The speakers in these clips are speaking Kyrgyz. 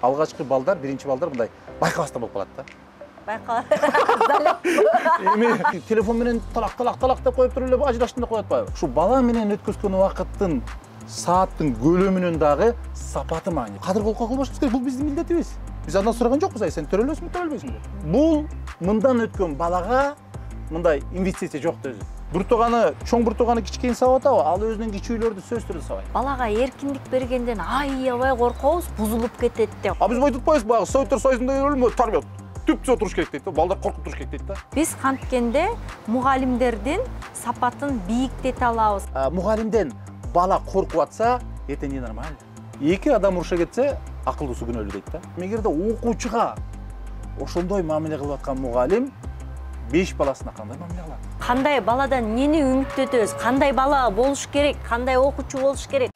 алгачкы балдар, биринчи балдар мындай байкабастан болуп калат да. Эми Телефон менен талак деп коюп туруп эле ажыраштым деп коюп атпайбы? Ушу бала менен өткөзгөн убакыттын, сааттын көлөмүнүн дагы сапаты маани. Кадыр колко кылбашыбыз керек. Бул биздин милдетибиз. Биз андан сураган жокпуз, сен төрөлөсүңбү, төрөлбөйсүңбү? Бул мындан өткөн балага мындай инвестиция жок да өзү. Буртуганы, чоң буртуганы кичкейин сабап атабы, ал өзүнүн кичүүлөрдү сөзсүз түрдө сабайт. Балага эркиндик бергенден аябай коркобуз, бузулуп кетет деп. Биз мынтип атпайбызбы, баягы Советтер Союзунда өлмө тарбия түп-түз туруш керек дейт да. Балдар коркуп туруш керек дейт да. Биз канткенде мугалимдердин сапатын бийиктете алабыз. Мугалимден бала коркуп атса, эртең не нормально. Эки адам уруша кетсе, акылдуусу күнөөлүү дейт да. Эгерде окуучуга ошондой мамиле кылып аткан мугалим 5 баласына кандай мамиле кылат? Кандай баладан эмнени үмүттөтөбүз? Кандай бала болуш керек? Кандай окуучу болуш керек?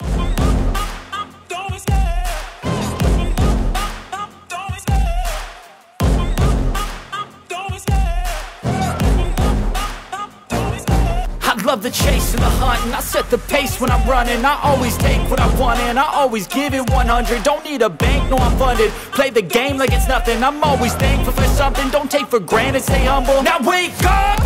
Love the chase and the hunt, and I set the pace when I'm running. I always take what I want and I always give it 100. Don't need a bank, no I'm funded. Play the game like it's nothing. I'm always thankful for something. Don't take for granted, stay humble. Now wake up,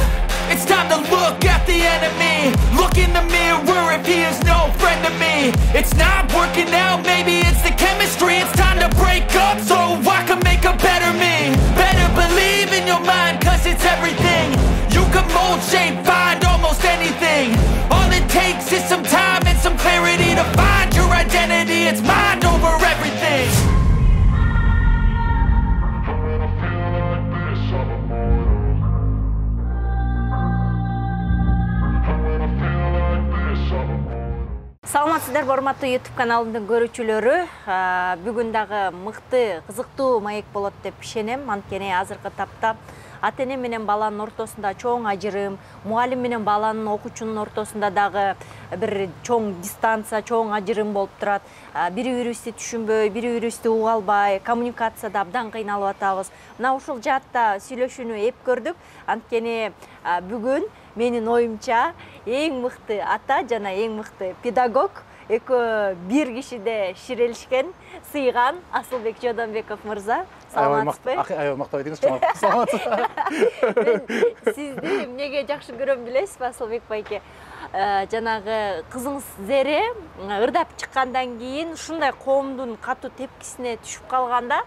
it's time to look at the enemy. Look in the mirror if he is no friend to me. It's not working out, maybe it's the chemistry. It's time to break up so I can make a better me. Better believe in your mind, cause it's everything. You can mold, shape, find almost anything. All it takes is some time and some clarity to find your identity. It's mind over everything. Саламатсыздарбы, урматтуу YouTube каналымдын көрүүчүлөрү. Бүгүн дагы мыкты, кызыктуу маек болот деп ишенем. Анткени азыркы тапта ата-эне менен баланын ортосунда чоң ажырым, мугалим менен баланын, окуучунун ортосунда дагы бир чоң дистанция, чоң ажырым болуп турат. Бири-бирибизди түшүнбөй, бири-бирибизди уга албай, коммуникацияда абдан кыйналып атабыз. Мына ушул жаатта сүйлөшүүнү эп көрдүк. Анткени бүгүн менин оюмча эң мыкты ата жана эң мыкты педагог экөө бир кишиде ширелишкен, сыйган Асылбек Жодонбеков мырза. Саламатсызбы? Аябай мактап айтыңыз, саламатсыз. Мен сизди эмнеге жакшы көрөм билесизби, Асылбек байке? Жанагы кызыңыз Зере ырдап чыккандан кийин ушундай коомдун катуу тепкисине түшүп калганда,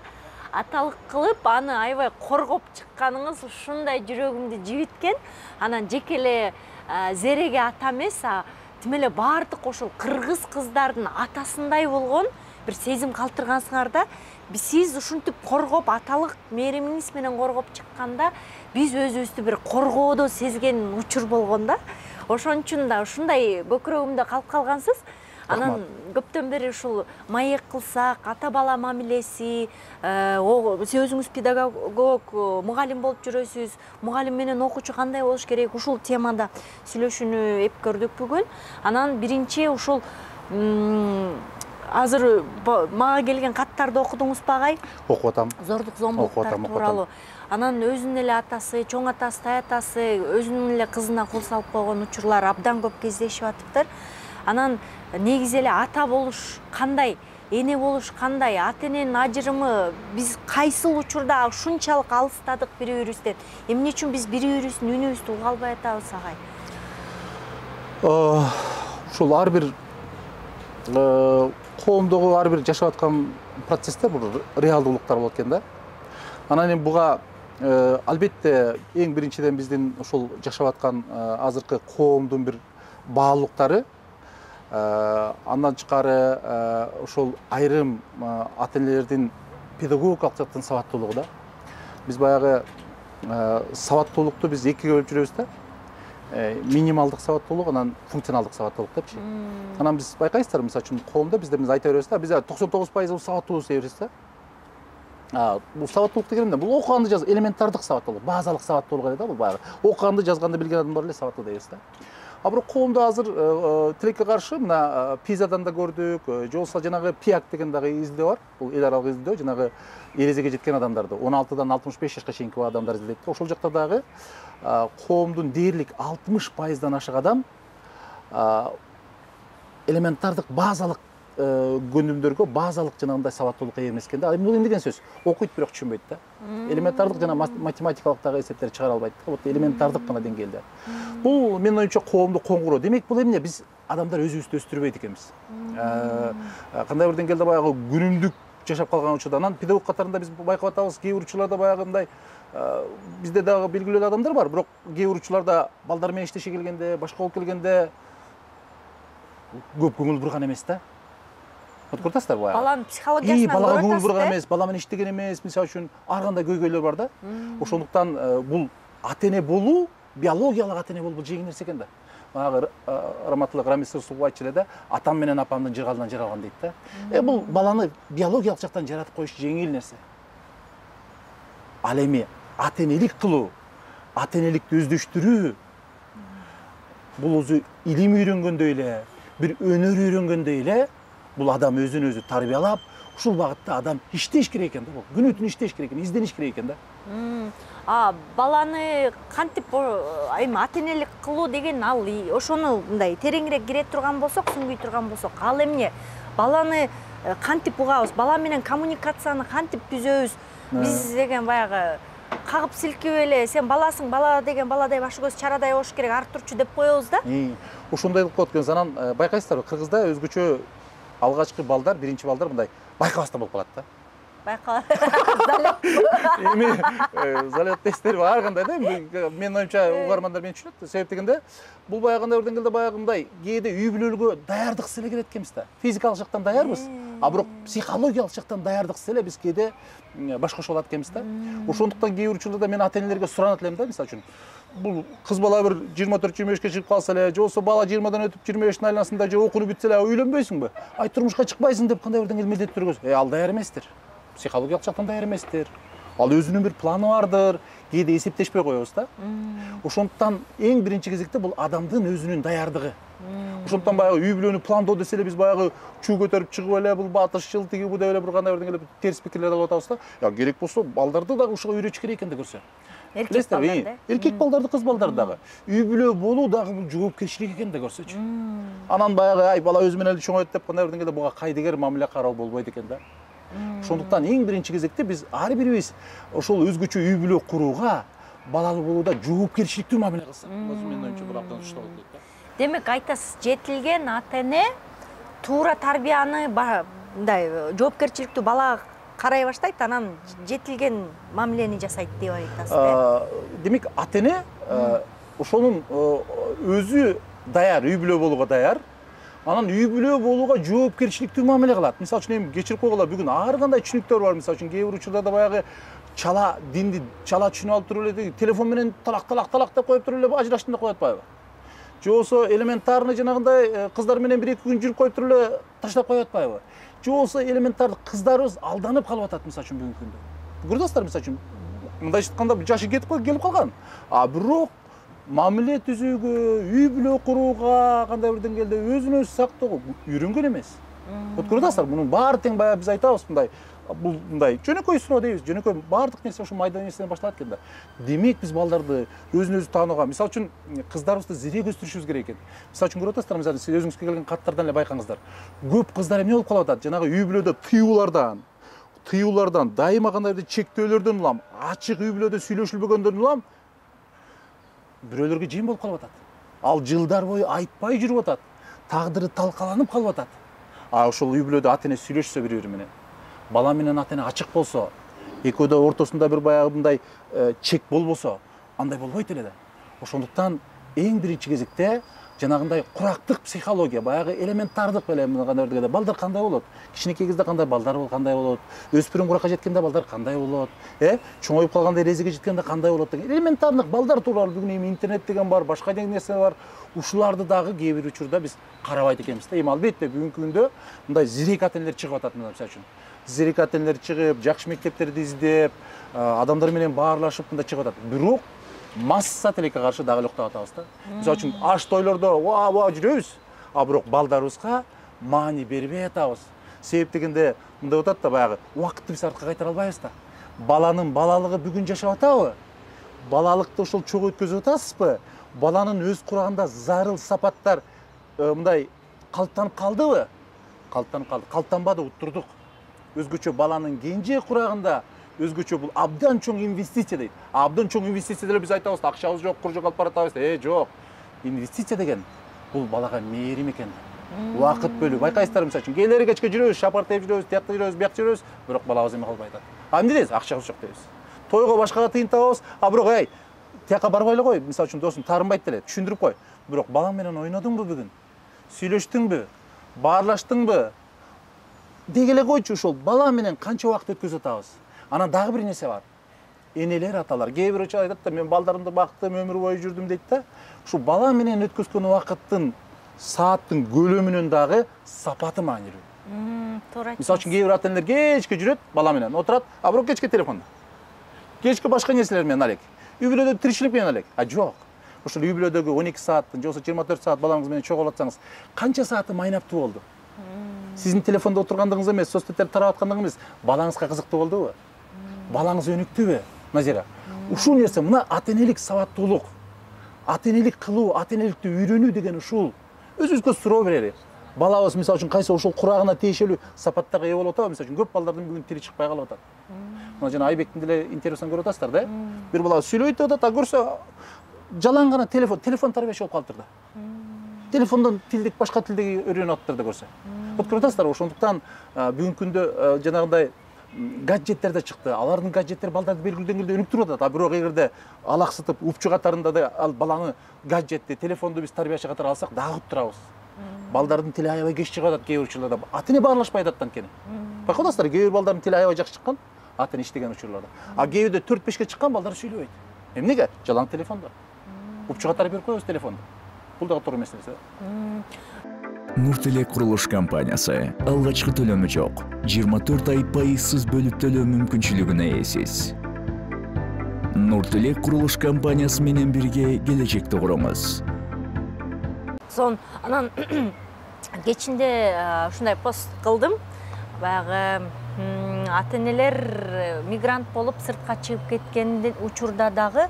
аталык кылып аны аябай коргоп чыкканыңыз ушундай жүрөгүмдү жибиткен. Анан жеке эле Зереге ата эмес, тим эле баардык ошол кыргыз кыздардын атасындай болгон бир сезим калтыргансыңар да. Сиз ушинтип коргоп, аталык мээримиңиз менен коргоп чыкканда, биз өзүбүздү бир коргоодо сезген учур болгон да. Ошон үчүн да ушундай көкүрөгүмдө калып калгансыз. Анан көптөн бери ушул маек кылсак, ата бала мамилеси, сиз өзүңүз педагог, мугалим болуп жүрөсүз, мугалим менен окуучу кандай болуш керек, ушул темада сүйлөшүүнү эп көрдүк бүгүн. Анан биринчи ушул азыр мага келген каттарды окудуңузбу агай? Окуп атам. Зордук зомбулуктар тууралуу. Анан өзүнүн эле атасы, чоң атасы, тай атасы өзүнүн эле кызына кол салып койгон учурлар абдан көп кездешип атыптыр. Анан негизи эле ата болуш кандай, эне болуш кандай, ата-эненин ажырымы биз кайсыл учурда ушунчалык алыстадык бири-бирибизден? Эмне үчүн биз бири-бирибиздин үнүбүздү уга албай атабыз агай? Ушул ар бир коомдогу ар бир жашап аткан процесстер бул реалдуулуктар болот экен да. Анан эми буга албетте эң биринчиден биздин ушул жашап аткан азыркы коомдун бир баалуулуктары, андан тышкары ошол айрым ата-энелердин педагогикалык жактан сабаттуулугу да. Биз баягы сабаттуулукту биз экиге бөлүп жүрөбүз да. Минималдык сабаттуулук, анан функционалдык сабаттуулук депчи. Анан биз байкайсыздар, мисалы үчүн коомдо биз айта беребиз да, биз 99% сабаттуубуз дей беребиз да. Бул сабаттуулук деген эмне? Бул окуганды жаз, элементардык сабаттуулук, базалык сабаттуулук эле да, бул баягы. Окуганды, жазганды билген адамдар эле сабаттуу дейбиз да. А бирок коомдо азыр тилекке каршы мына Пизадан да көрдүк, же болбосо жанагы ПИАК деген дагы издөө бар. Бул эл аралык издөө, жанагы эрезеге жеткен адамдарды 16-дан 65 жашка чейинки адамдар издейт. Ошол жакта дагы коомдун дээрлик 60%дан ашык адам элементардык базалык көндүмдөргө базалык жанагындай сабаттуулукка ээ эмес экен да. Бул эмне деген сөз? Окуйт бирок түшүнбөйт да. Элементардык жана математикалык дагы эсептерди чыгара албайт да. Вот элементардык гана деңгээлде. Бул менин оюмча коомду коңгуроо. Демек бул эмне? Биз адамдар өзүбүздү өстүрбөйт экенбиз. Кандай бир деңгээлде баягы күнүмдүк жашап калган учурда, анан педагог катарында биз байкап атабыз, кээ бир учурларда баягы мындай бизде дагы белгилүү адамдар бар, бирок кээ бир учурларда балдар менен иштеше келгенде, башка болуп келгенде көп көңүл бурган эмес да. Вот көрдүңүздөр баягы. Баланын психологиясынан балага көңүл бурган эмес, бала менен иштеген эмес, мисалы үчүн ар кандай көйгөйлөр бар да. Ошондуктан бул ата-эне болуу, биологиялык ата-эне болуу бул жеңил нерсе экен да. Баягы Раматылык Рамис Русулов айтчу эле да, атам менен апамдын жыргалынан жаралган дейт да. Бул баланы биологиялык жактан жаратып коюш жеңил нерсе. Ал эми ата-энелик кылуу, ата-энеликти өздөштүрүү бул өзү илим үйрөнгөндөй эле, бир өнөр үйрөнгөндөй эле бул адам өзүн өзү тарбиялап, ушул багытта адам иштеш керек экен да, бул күнү түн иштеш керек экен, издениш керек экен да. Баланы кантип эми ата-энелик кылуу деген ал ошону мындай тереңирээк кире турган болсок, сүңгүй турган болсок, ал эмне? Баланы кантип угабыз? Бала менен коммуникацияны кантип түзөбүз? Биз деген баягы кагып силкип эле сен баласың, бала деген баладай башы көз чарадай болуш керек, ар турчу деп коебуз да. Ошондой кылып коет экенбиз. Анан байкайсыздарбы, Кыргызда өзгөчө алгачкы балдар, биринчи балдар мындай байкабастан болуп калат да. Эми залет тесттери ар кандай да. Менин оюмча угармандар мени түшүнөт. Себеп дегенде бул баягы кандай бир деңгээлде баягы мындай кээде үй бүлөлүккө даярдыксыз эле келет экенбиз да. Физикалык жактан даярбыз, бирок психологиялык жактан даярдыксыз эле биз кээде башкача болот экенбиз да. Ошондуктан кээ бир учурларда мен ата-энелерге суранат элем да, мисалы үчүн. Бул кыз бала бир 24-25 чыгып калса эле, же болбосо бала 20дан өтүп 25-тин айланасында же окууну бүтсө эле үйлөнбөйсүңбү? Ай турмушка чыкпайсың деп кандай бир деңгээлде милдеттөргөз. Ал даяр эместир. Психологиялык жактан даяр эместир. Ал өзүнүн бир планы бардыр. Кээде эсептешпей коебуз да. Ошондуктан эң биринчи кезекте бул адамдын өзүнүн даярдыгы. Ошондуктан баягы үй бүлөнү пландоо десе эле биз баягы чуу көтөрүп чыгып эле бул батышчыл тиги бу деп эле бир кандай бир деңгээлде терс пикирлерди алып атабыз да. Керек болсо балдарды дагы ушуга үйрөтүш керек экен да көрсө. Эркек балдарды, кыз балдарды дагы. Үй бүлө болуу дагы бул жоопкерчилик экен да көрсөчү. Анан баягы бала өзү менен эле чоңойт деп кандай бир деңгээлде буга кайдыгер мамиле кароо болбойт экен да. Ошондуктан эң биринчи кезекте биз ар бирибиз ошол өзгөчө үй бүлө курууга, балалуу болууда жоопкерчиликтүү мамиле кылсак, менин оюмча бул абдан ушта болот дейт да. Демек айтасыз, жетилген ата-эне туура тарбияны мындай жоопкерчиликтүү балага карай баштайт, анан жетилген мамилени жасайт деп айтасыз. Демек ата-эне ошонун өзү даяр, үй бүлө болууга даяр. Анан үй бүлө болууга жоопкерчиликтүү мамиле кылат. Мисалы үчүн эми кечирип койгула, бүгүн ар кандай түшүнүктөр бар. Мисалы үчүн кээ бир учурларда баягы чала динди чала түшүнүп алып туруп эле телефон менен талак деп коюп туруп эле ажыраштым деп коюп атпайбы? Же болбосо элементарный жанагындай кыздар менен 1-2 күн жүрүп коюп туруп эле таштап коюп атпайбы? Же болбосо элементардык кыздарыбыз алданып калып атат мисалы үчүн бүгүнкү күндө. Көрүп атасыздар мисалы үчүн мындайча айтканда жашы келип калган. Бирок мамиле түзүүгө, үй бүлө курууга, кандай бир деңгээлде өзүн өзү сактоого үйрөнгөн эмес. Вот көрүп атасыздар, мунун баары тең баягы биз айтабыз мындай, бул мындай жөнөкөй суроо дейбиз, жөнөкөй баардык нерсе ошо майда нерседен башталат экен да. Демек биз балдарды өзүн өзү таанууга, мисалы үчүн кыздарыбызды зерек өстүрүшүбүз керек экен. Мисалы үчүн көрүп атасыздар, мисалы сиз өзүңүзгө келген каттардан эле байкаңыздар. Көп кыздар эмне болуп калып атат? Жанагы үй бүлөдө тыюулардан, дайыма кандайдыр чектөөлөрдөн улам, ачык үй бүлөдө сүйлөшүлбөгөндөрдөн улам бирөөлөргө жем болуп калып атат. Ал жылдар бою айтпай жүрүп атат. Тагдыры талкаланып калып атат. Ошол үй бүлөдө ата-эне сүйлөшсө бири-бири менен, бала менен ата-эне ачык болсо, экөөдө ортосунда бир баягы мындай чек болбосо, андай болбойт эле да. Ошондуктан эң биринчи кезекте жанагындай курактык психология, баягы элементардык эле кандай дегенде балдар кандай болот? Кичинекей кезде кандай балдар кандай болот? Өспүрүм куракка жеткенде балдар кандай болот? Чоңоюп калганда эрезеге жеткенде кандай болот деген элементардык балдар тууралуу бүгүн эми интернет деген бар, башка деген нерсе бар. Ушуларды дагы кээ бир учурда биз карабайт экенбиз да. Эми албетте бүгүнкү күндө мындай зерек ата-энелер чыгып атат мисалы үчүн. Зерек ата-энелер чыгып, жакшы мектептерди издеп, адамдар менен баарлашып мындай чыгып атат. Бирок масса тилекке каршы дагы эле уктап атабыз да. Мисалы үчүн аш тойлордо ва жүрөбүз, бирок балдарыбызга маани бербей атабыз. Себеп дегенде мындай атат да, баягы убакытты биз артка кайтара албайбыз да. Баланын балалыгы бүгүн жашап атабы? Балалыкты ошол чогуу өткөзүп атасызбы? Баланын өз курагында зарыл сапаттар мындай калыптанып калдыбы? калыптанып калды. Калыптанбады, уттурдук. Өзгөчө баланын кенже курагында өзгөчө бул абдан чоң инвестиция дейт. Абдан чоң инвестиция деле биз айтабыз, акчабыз жок, куржок алып баратабыз. Жок. Инвестиция деген бул балага мээрим экен. Убакыт бөлүп, байкайсыздар, мисалы үчүн кээлери кечке жүрөбүз, шапар тееп жүрөбүз, тиякта жүрөбүз, биякта жүрөбүз, бирок балабыз эме калбай атат. Эмне дейбиз? Акчабыз жок дейбиз. Тойго башкага тыйын табабыз, бирок тияка барбай эле кой, мисалы үчүн досум таарынбайт деле, түшүндүрүп кой. Бирок балаң менен ойнодуңбу бүгүн? Сүйлөштүңбү? Баарлаштыңбы? Деги эле койчу, ошол бала менен канча убакыт өткөзүп атабыз. Анан дагы бир нерсе бар. Энелер, аталар, кээ бир айтат да, мен балдарымды бактым, өмүр бою жүрдүм дейт да. Ушул бала менен өткөзгөн убакыттын, сааттын көлөмүнөн дагы сапаты маанилүү. Туура айттыңыз. Мисалы үчүн кээ бир ата-энелер кечке жүрөт, бала менен отурат, бирок кечке телефондо. Кечке башка нерселер менен алек. Үй бүлөдө тиричилик менен алек. Жок. Ошол үй бүлөдөгү 12 сааттын, же болбосо 24 саат балаңыз менен чогулуп атсаңыз, канча сааты майнаптуу болду? Сиздин телефондо отургандыгыңыз эмес, соцсеттерди тарап аткандыгыңыз эмес, балаңызга кызыктуу болдубу? Балаңыз өнүктүбү, Назира? Ушул нерсе, мына ата-энелик сабаттуулук, ата-энелик кылуу, ата-энеликти үйрөнүү деген ушул. Өзүбүзгө суроо берели. Балабыз мисалы үчүн кайсы ошол курагына тиешелүү сапаттарга ээ болуп атабы? Мисалы үчүн көп балдардын бүгүн тили чыкпай калып атат. Мына жана Айбектин деле интервьюсун көрүп атасыздар да? Бир бала сүйлөйт деп атат, көрсө жалаң гана телефон тарбияшы болуп калыптыр да. Телефондон тилдик башка тилди үйрөнүп атыптыр да көрсө. Көрүп атасыздар, ошондуктан бүгүнкү күндө жанагындай гаджеттер да чыкты. Алардын гаджеттери балдарды белгилүү деңгээлде өнүктүрүп атат. Бирок эгерде алаксытып, упчу катарында да ал баланы гаджетти, телефонду биз тарбияшы катары алсак, дагы уттурабыз. Балдардын тили аябай кеч чыгып атат кээ бир учурларда. Ата-эне баарлашпай атат анткени. Байкап атасыздар, кээ бир балдардын тили аябай жакшы чыккан, ата-эне иштеген учурларда. Кээ бирде 4-5ке чыккан балдар сүйлөбөйт. Эмнеге? Жалаң телефондо. Упчу катары берип коебуз телефонду. Бул дагы туура эмес нерсе. Нуртелек курулуш компаниясы алгачкы төлөмү жок. 24 ай пайызсыз бөлүп төлөө мүмкүнчүлүгүнө ээсиз. Нуртелек курулуш компаниясы менен бирге келечекти куруңуз. Анан кечинде ушундай пост кылдым. Баягы ата-энелер мигрант болуп сыртка чыгып кеткен учурда дагы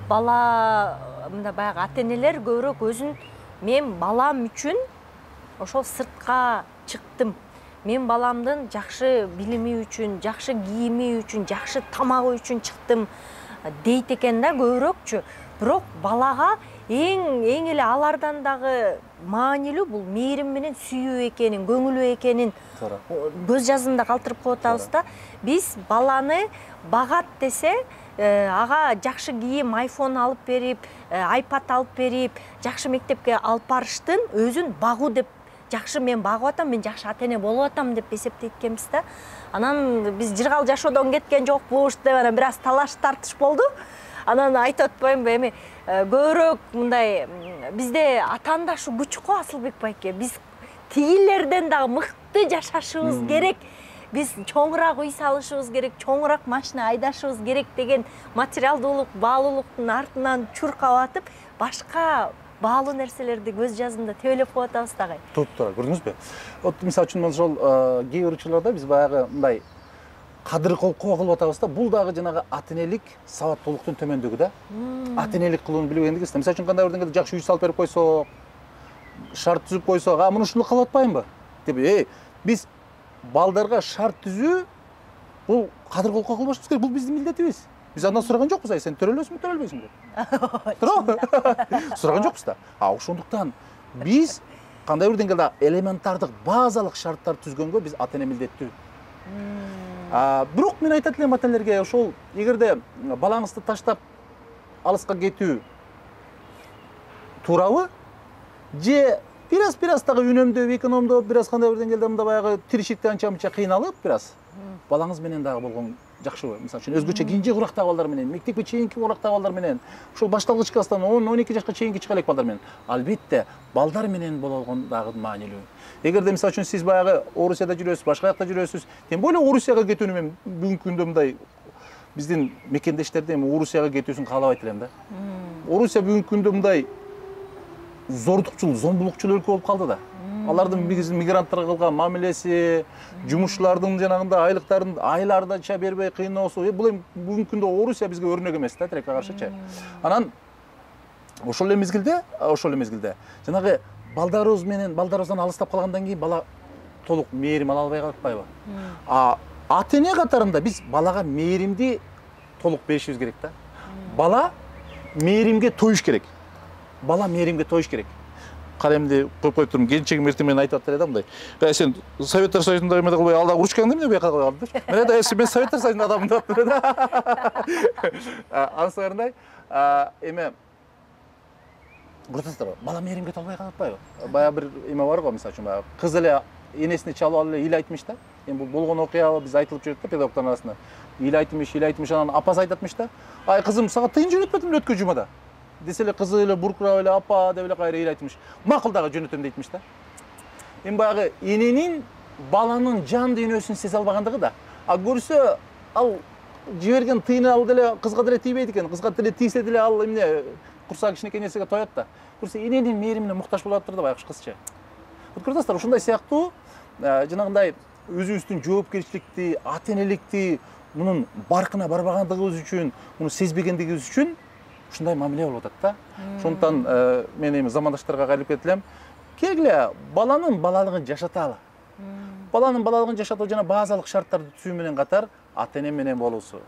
бала мында баягы ата-энелер көбүрөөк өзүн мен балам үчүн ошол сыртка чыктым. Мен баламдын жакшы билими үчүн, жакшы кийими үчүн, жакшы тамагы үчүн чыктым дейт экен да көбүрөөкчү. Бирок балага эң эле алардан дагы маанилүү бул мээрим менен сүйүү экенин, көңүлүү экенин көз жазында калтырып коюп атабыз да. Биз баланы багат десе, ага жакшы кийим, iPhone алып берип, iPad алып берип, жакшы мектепке алып барыштын өзүн багуу деп, жакшы мен багып атам, мен жакшы ата-эне болуп атам деп эсептейт экенбиз да. Анан биз жыргал жашоодон кеткен жокпуз деп анан бир аз талаш тартыш болду. Анан айтып атпаймынбы, эми көбүрөөк мындай бизде атаандашы күч го Асылбек байке. Биз тигилерден дагы мыкты жашашыбыз керек. Биз чоңураак үй салышыбыз керек, чоңураак машина айдашыбыз керек деген материалдуулук, баалуулуктун артынан чуркап атып, башка баалуу нерселерди көз жазымда тебелеп коюп атабыз дагы. Туура, көрдүңүзбү? Мисалы үчүн ошол кээ бир учурларда биз баягы мындай кадыр колкоо кылып атабыз да, бул дагы жанагы ата-энелик сабаттуулуктун төмөндүгү да. Ата-энелик кылууну билбегендиги. Мисалы үчүн кандай бир деңгээлде жакшы үй салып берип койсок, шарт түзүп койсок, муну ушуну кылып атпаймынбы? Деп, биз балдарга шарт түзүү бул кадыр колкоо кылбашыбыз керек. Бул биздин милдетибиз. Биз андан сураган жокпуз, сен төрөлөсүңбү, төрөлбөйсүңбү деп. Туура? Сураган жокпуз да. Ошондуктан биз кандай бир деңгээлде элементардык, базалык шарттар түзгөнгө биз ата-эне милдеттүү. Бирок мен айтат элем ата-энелерге, ошол эгерде балаңызды таштап алыска кетүү туурабы? Же бир аз дагы үнөмдөп, экономдоп, бир аз кандай бир деңгээлде мында баягы тиричиликте анча-мынча кыйналып, бир аз балаңыз менен дагы болгон жакшыбы? Мисалы үчүн өзгөчө кенже курактагы балдар менен, мектепке чейинки курактагы балдар менен, ошол башталгыч класстан 10-12 жашка чейинки чыга элек балдар менен, албетте балдар менен болгон дагы маанилүү. Эгерде мисалы үчүн сиз баягы Орусияда жүрөсүз, башка жакта жүрөсүз, тем более Орусияга кетүүнү мен бүгүнкү күндө мындай биздин мекендештерди эми Орусияга кетүүсүн каалабайт элем да. Орусия бүгүнкү күндө мындай зордукчул, зомбулукчул өлкө болуп калды да. Алардын биздин мигранттарга кылган мамилеси, жумушчулардын жанагында айлыктарын айларданча бербей кыйноосу, бул эми бүгүнкү күндө Орусия бизге өрнөк эмес да, тилекке каршычы. Анан ошол эле мезгилде жанагы балдарыбыздан алыстап калгандан кийин бала толук мээрим ала албай калатпайбы? Ата эне катарында биз балага мээримди толук беришибиз керек да. Бала мээримге тоюш керек. Бала мээримге тоюш керек. Каремди коюп турмун, келинчегим эртең менен айтып атты да мындай. Сен Советтер Союзунда эме кылбай алда урушкаң эмне буяка кылып алдың? Мен мен Советтер Союзунун адаммын деп атты да. Анысы барындай эме Көрсөңүздөр, бала мээримге толбой калатпайбы? Бая бир эме бар го, мисалы үчүн баягы кыз эле энесине чалып алып эле ил айтмыш да. Эми бул болгон окуя биз айтылып жүрөт да педагогдордун арасында. Ил айтмыш, анан апасы айтатмыш да. Ай кызым, сага тыйын жөнөтпөдүм өткөн жумада. Десе эле кызы эле буркурап эле апа деп эле кайра ил айтмыш. Макул дагы жөнөтөм дейтмиш да. Эми баягы эненин баланын жан дүйнөсүн сезе албагандыгы да. Көрсө ал жиберген тыйыны ал деле кызга деле тийбейт экен. Кызга деле тийсе деле ал эмне курсак кичинекей нерсеге тоет да. Көрсө эненин мээримине муктаж болуп атыптыр да байкуш кызча. Көрдүңүздөр, ушундай сыяктуу жанагындай өзүбүздүн жоопкерчиликти, ата энеликти мунун баркына барбагандыгыбыз үчүн, муну сезбегендигибиз үчүн ушундай мамиле болуп атат да. Ошондуктан мен эми замандаштарга кайрылып кетип элем. Келгиле, баланын балалыгын жашаталы. Баланын балалыгын жашатуу жана базалык шарттарды түзүү менен катар ата эне менен болуусу.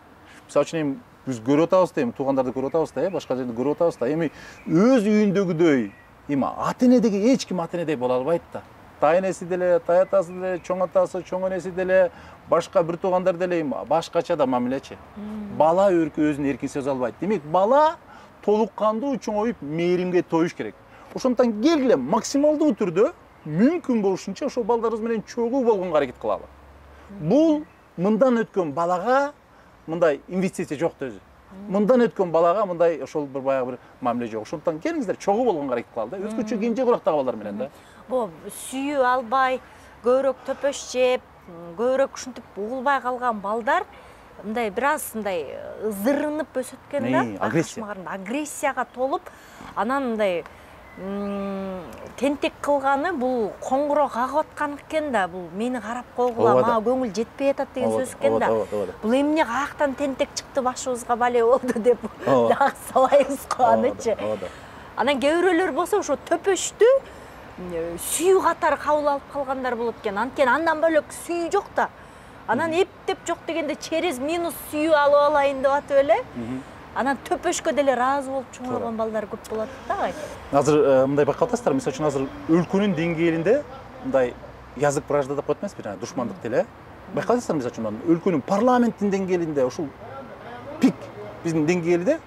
Мисалы үчүн эми биз көрүп атабыз да, эми туугандарды көрүп атабыз да, башка жерде көрүп атабыз да. Эми өз үйүндөгүдөй эми ата энедеги эч ким ата энедей боло албайт да. Тайнеси деле, таятасы деле, чоң атасы, чоң энеси деле, башка бир туугандар деле башкача да мамилечи. Бала өзүн эркин сезе албайт. Демек, бала толук кандуу чоңоюп мээримге тоюш керек. Ошондуктан келгиле максималдуу түрдө мүмкүн болушунча ошол балдарыбыз менен чогуу болгонго аракет кылалы. Бул мындан өткөн балага мындай инвестиция жок да өзү. Мындан өткөн балага мындай ошол бир баягы бир мамиле жок. Ошондуктан келиңиздер чогуу болгонго аракет кылалы да. Өзгөчө кенже курактагы балдар менен да. Бул сүйүү албай, көбүрөөк төпөш жеп, көбүрөөк ушинтип угулбай калган балдар мындай бир аз мындай ызырынып өсөт экен да. Агрессияга толуп, анан мындай тентек кылганы бул коңгуроо кагып аткан экен да. Бул мени карап койгула, мага көңүл жетпей атат деген сөз экен да. Бул эмне каяктан тентек чыкты башыбызга бале болду деп дагы сабайбыз го анычы. Анан кээ бирөөлөр болсо ошо төпөштү сүйүү катары кабыл алып калгандар болот экен. Анткени андан бөлөк сүйүү жок да. Анан эптеп жок дегенде через минус сүйүү алып алайын деп атып эле. Анан төпөшкө деле ыраазы болуп чоңойгон балдар көп болот да. Азыр мындай байкап атасыздар, мисалы үчүн азыр өлкөнүн деңгээлинде мындай язык вражда деп коет эмеспи, душмандык деле. Байкап атасыздар, мисалы үчүн өлкөнүн парламенттин деңгээлинде ушул пик биздин деңгээлде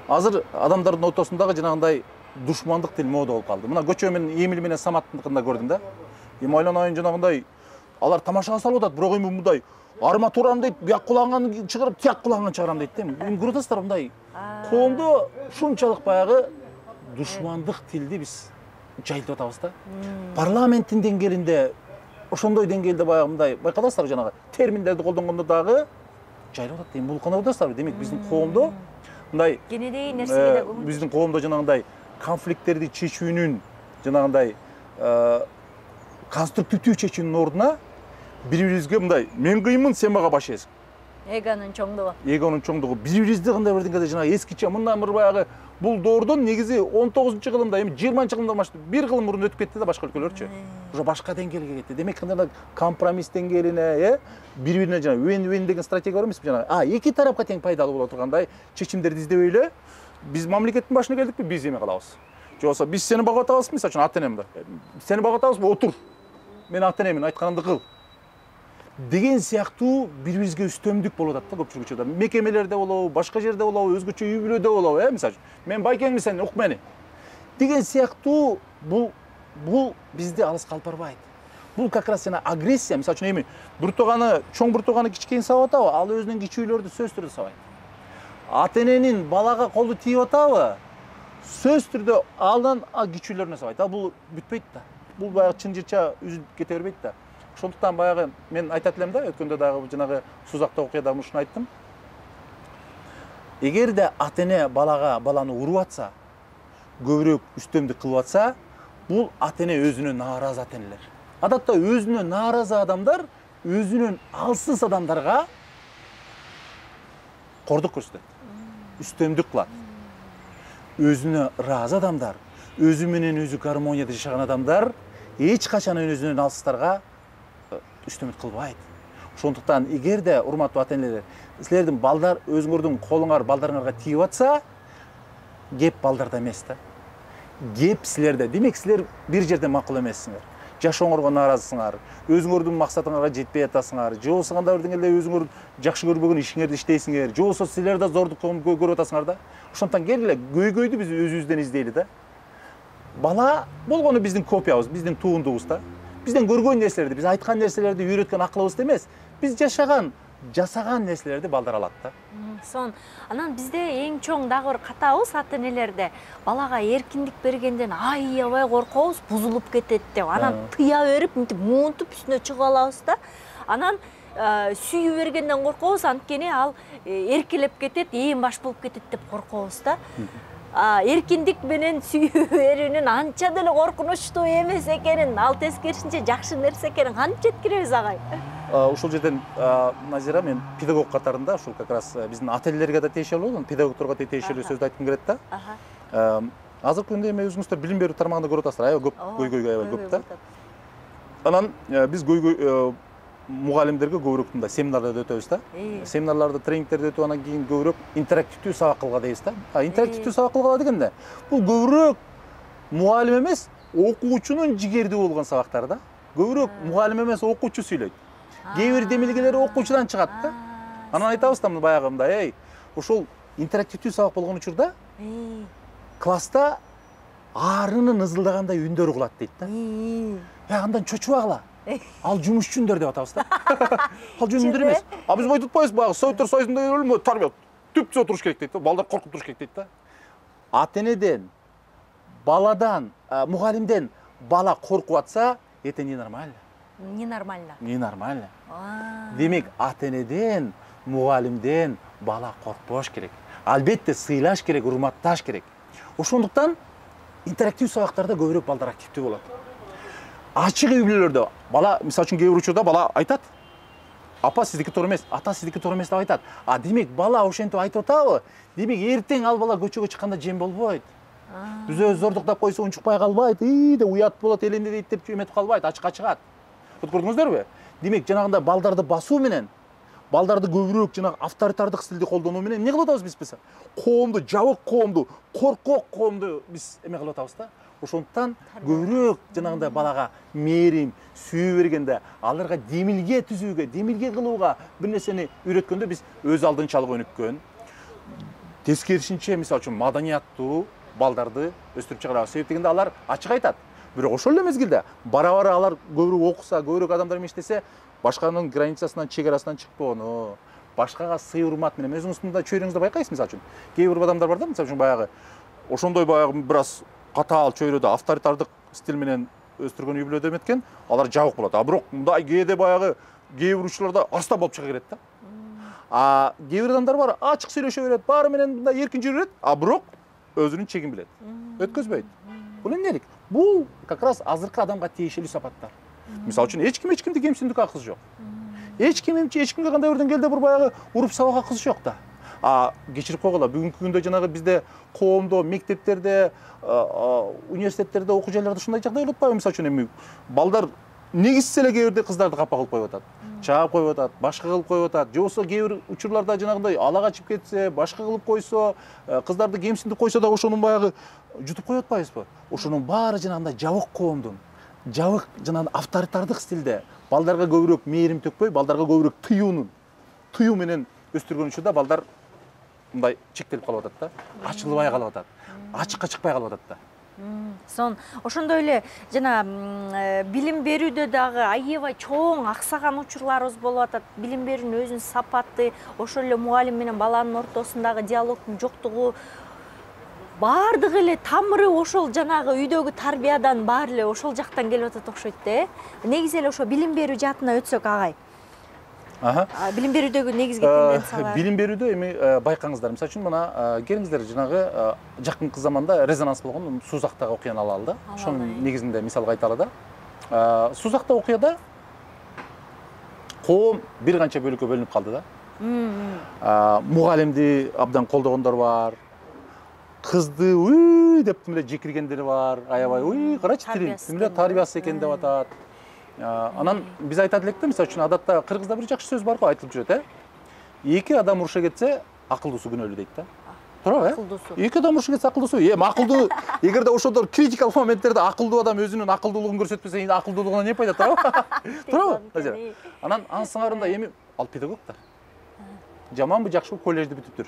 азыр адамдардын ортосундагы жанагындай душмандык тил мода болуп калды. Мына көчө мен Эмил менен Саматтыкында көрдүм да. Эми ойлонайын жанагындай алар тамашага салып атат, бирок эми мындай арматурам дейт, бияк кулаган чыгарып, тияк кулаган чыгарам дейт да. Эми көрүп атасыздар мындай коомдо ушунчалык баягы душмандык тилди биз жайылтып атабыз да. Парламенттин деңгээлинде ошондой деңгээлде баягы мындай байкап атасыздар жанагы терминдерди колдонгондо дагы жайылып атат. Эми бул кандай болуп атасыздар? Демек биздин коомдо мындай кенедей нерсеге да биздин коомдо жанагындай конфликттерди чечүүнүн жанагындай конструктивдүү чечүүнүн ордуна бири-бирибизге мындай мен кыйынмын, сен мага баш эзиң. Эгонун чоңдугу. Эгонун чоңдугу. Бири-бирибизди кандай бирдеңеде жанагы эскиче мындан бир баягы бул доордон негизи 19-кылымда, эми 20-кылымда бир кылым мурун өтүп кетти да башка өлкөлөрчү. Уже башка деңгээлге кетти. Демек кандай компромисс деңгээлине, бири-бирине жана win-win деген стратегия бар эмеспи жана. Эки тарапка тең пайдалуу боло тургандай чечимдерди издебей эле биз мамлекеттин башына келдикпи, биз эме кылабыз. Же болбосо биз сени багып атабызбы, мисалы үчүн ата энемди. Сени багып атабызбы, отур. Мен ата энемин, айтканымды кыл. Деген сыяктуу бири-бирибизге үстөмдүк болуп атат да көпчүлүк учурда. Мекемелерде болобу, башка жерде болобу, өзгөчө үй бүлөдө болобу, мисалы үчүн. Мен байкеңми, сен ук мени. Деген сыяктуу бул бизди алыска алып барбайт. Бул как раз жана агрессия, мисалы үчүн эми бир тууганы, чоң бир тууганы кичкейин сабап атабы, ал өзүнүн кичүүлөрдү сөз түрдө сабайт. Ата эненин балага колу тийип атабы, сөз түрдө алдан кичүүлөрүнө сабайт. Бул бүтпөйт да. Бул баягы чын жырча үзүлүп кете бербейт да. Ошондуктан баягы мен айтат элем да, өткөндө дагы жанагы Сузакта окуяда ушуну айттым. Эгерде ата эне баланы уруп атса, көбүрөөк үстөмдүк кылып атса, бул ата эне өзүнө нааразы ата энелер. Адатта өзүнө нааразы адамдар өзүнөн алсыз адамдарга кордук көрсөтөт. Үстөмдүк кылат. Өзүнө ыраазы адамдар, өзү менен өзү гармонияда жашаган адамдар эч качан өзүнөн алсыздарга үстөмөт кылбайт. Ошондуктан эгерде урматтуу ата-энелер, силердин балдар өзүңөрдүн колуңар балдарыңарга тийип атса, кеп балдарда эмес да. Кеп силерде. Демек силер бир жерде макул эмессиңер. Жашооңорго нааразысыңар, өзүңөрдүн максатыңарга жетпей атасыңар, же болбосо кандай бир деңгээлде өзүңөр жакшы көрбөгөн ишиңерди иштейсиңер, же болбосо силер да зордук көрүп атасыңар да. Ошондуктан келгиле көйгөйдү биз өзүбүздөн издейли да. Бала болгону биздин копиябыз, биздин туундубуз да. Бизден көргөн нерселерди, биз айткан нерселерди үйрөткөн акылыбызды эмес, биз жашаган, жасаган нерселерди балдар алат да. Анан бизде эң чоң дагы бир катабыз ата-энелерде балага эркиндик бергенден аябай коркобуз, бузулуп кетет деп. Анан тыя берип, мынтип муунтуп үстүнө чыгып алабыз да. Анан сүйүү бергенден коркобуз, анткени ал эркелеп кетет, ээн баш болуп кетет деп коркобуз да. Эркиндик менен сүйүү берүүнүн анча деле коркунучтуу эмес экенин, ал тескерисинче жакшы нерсе экенин кантип жеткиребиз агай? Ушул жерден Назира, мен педагог катарында ушул как раз биздин ата-энелерге да тиешелүү болот, педагогторго да тиешелүү сөздү айткым келет да. Азыркы күндө эми өзүңүздөр билим берүү тармагында көрүп атасыздар, аябай көп көйгөй аябай көп да. Анан биз мугалимдерге көбүрөөк мындай семинарларды өтөбүз да. Семинарларды, тренингтерди өтүп анан кийин көбүрөөк интерактивдүү сабак кылгыла дейбиз да. Интерактивдүү сабак кылгыла дегенде бул көбүрөөк мугалим эмес, окуучунун жигердүү болгон сабактар да. Көбүрөөк мугалим эмес, окуучу сүйлөйт. Кээ бир демилгелери окуучудан чыгат да. Анан айтабыз да баягы мындай, ошол интерактивдүү сабак болгон учурда класста арынын ызылдагандай үндөр угулат дейт да. Андан чочубагыла. Ал жумушчундар деп атабыз да. Ал жөнүндөр эмес. Биз мынтип атпайбыз, баягы Советтер Союзунда эле тарбия түп-түз отуруш керек дейт да. Балдар коркуп туруш керек дейт да. Ата-энеден, баладан, мугалимден бала коркуп атса, это ненормально. Ненормально. Ненормально. Демек, ата-энеден, мугалимден бала коркпош керек. Албетте сыйлаш керек, урматташ керек. Ошондуктан интерактив сабактарда көбүрөөк балдар активдүү болот. Ачык үй-бүлөлөрдө бала, мисалы үчүн кээ бир учурда бала айтат: "Апа, сиздики туура эмес, ата сиздики туура эмес" деп айтат. Демек бала ошентип айтып атабы? Демек эртең ал бала көчөгө чыкканда жем болбойт. Өзү зордуктап койсо унчукпай калбайт, деп уят болот, элемде дейт деп эметип калбайт, ачыкка чыгат. Көрдүңүздөрбү? Демек жанагындай балдарды басуу менен, балдарды көбүрөөк жанагы авторитардык стилди колдонуу менен эмне кылып атабыз биз? Коомду, жабык коомду, коркок коомду биз эме кылып атабыз да. Ошондуктан көбүрөөк жанагындай балага мээрим, сүйүү бергенде, аларга демилге түзүүгө, демилге кылууга бир нерсени үйрөткөндө биз өз алдынчалык өнүккөн. Тескерисинче, мисалы үчүн маданияттуу балдарды өстүрүп чыгарабыз. Себеп дегенде алар ачык айтат. Бирок ошол эле мезгилде бара-бара алар көбүрөөк окуса, көбүрөөк адамдар менен иштесе, башканын границасынан, чек-арасынан чыкпоону, башкага сый урмат менен өзүңүз мында чөйрөңүздө байкайсыз, мисалы үчүн. Кээ бир адамдар бар да, мисалы үчүн баягы ошондой баягы бир аз катаал чөйрөдө авторитардык стиль менен өстүргөн үй-бүлөдө эметкен, алар жабык болот. Бирок мындай кээде баягы кээ бир учурларда арстан болуп чыга келет да. Кээ бир адамдар бар, ачык сүйлөшө берет, баары менен мындай эркин жүрө берет, бирок өзүнүн чегин билет. Өткөзбөйт. Бул эмнелик? Бул как раз азыркы адамга тиешелүү сапаттар. Мисалы үчүн эч кимди кемсиндик акысы жок. Эч кимге кандай бир деңгээлде бир баягы уруп сабак акысы жок да. Кечирип койгула, бүгүнкү күндө жанагы бизде коомдо, мектептерде, университеттерде, окуу жайларда ушундай жагдай болуп атпайбы? Мисалы үчүн эми балдар негизсиз эле кээ бирде кыздарды капа кылып коюп атат, чаап коюп атат, башка кылып коюп атат. Же болбосо кээ бир учурларда жанагындай ала качып кетсе, башка кылып койсо, кыздарды кемсиндип койсо да ошонун баягы жутуп коюп атпайбызбы? Ошонун баары жанагындай жабык коомдун, жабык жанагы авторитардык стилде балдарга көбүрөөк мээрим төкпөй, балдарга көбүрөөк тыюу менен өстүргөн учурда балдар мындай чектелип калып атат да, ачылбай калып атат, ачыкка чыкпай калып атат да. Ошондой эле жана билим берүүдө дагы аябай чоң аксаган учурларыбыз болуп атат. Билим берүүнүн өзүнүн сапаты, ошол эле мугалим менен баланын ортосундагы диалогдун жоктугу, баардыгы эле тамыры ошол жанагы үйдөгү тарбиядан баары эле ошол жактан келип атат окшойт да. Негизи эле ошо билим берүү жаатына өтсөк агай. Билим берүүдөгү негизги тенденциялар. Билим берүүдө эми байкаңыздар. Мисалы үчүн мына келиңиздер жанагы жакынкы заманда резонанс болгон Сузактагы окуяны алалы да. Ошонун негизинде мисалга айталы да. Сузакта окуяда коом бир канча бөлүккө бөлүнүп калды да. Мугалимди абдан колдогондор бар. Кызды деп эле жекиргендер бар. Аябай, карачы тилин, тарбиясыз экен деп атат. Анан биз айтат элек да, мисалы үчүн адатта кыргызда бир жакшы сөз бар го, айтылып жүрөт, эки адам уруша кетсе, акылдуусу күнөөлүү дейт да. Туурабы? Акылдуусу. Эки адам уруша кетсе акылдуусу. Акылдуу, эгерде ошондор критикалык моменттерде акылдуу адам өзүнүн акылдуулугун көрсөтпөсө, эми акылдуулугунан эмне пайда, туурабы? Туурабы? Анан анын сыңарында эми ал педагогдор. Жаманбы, жакшыбы коллежди бүтүптүр.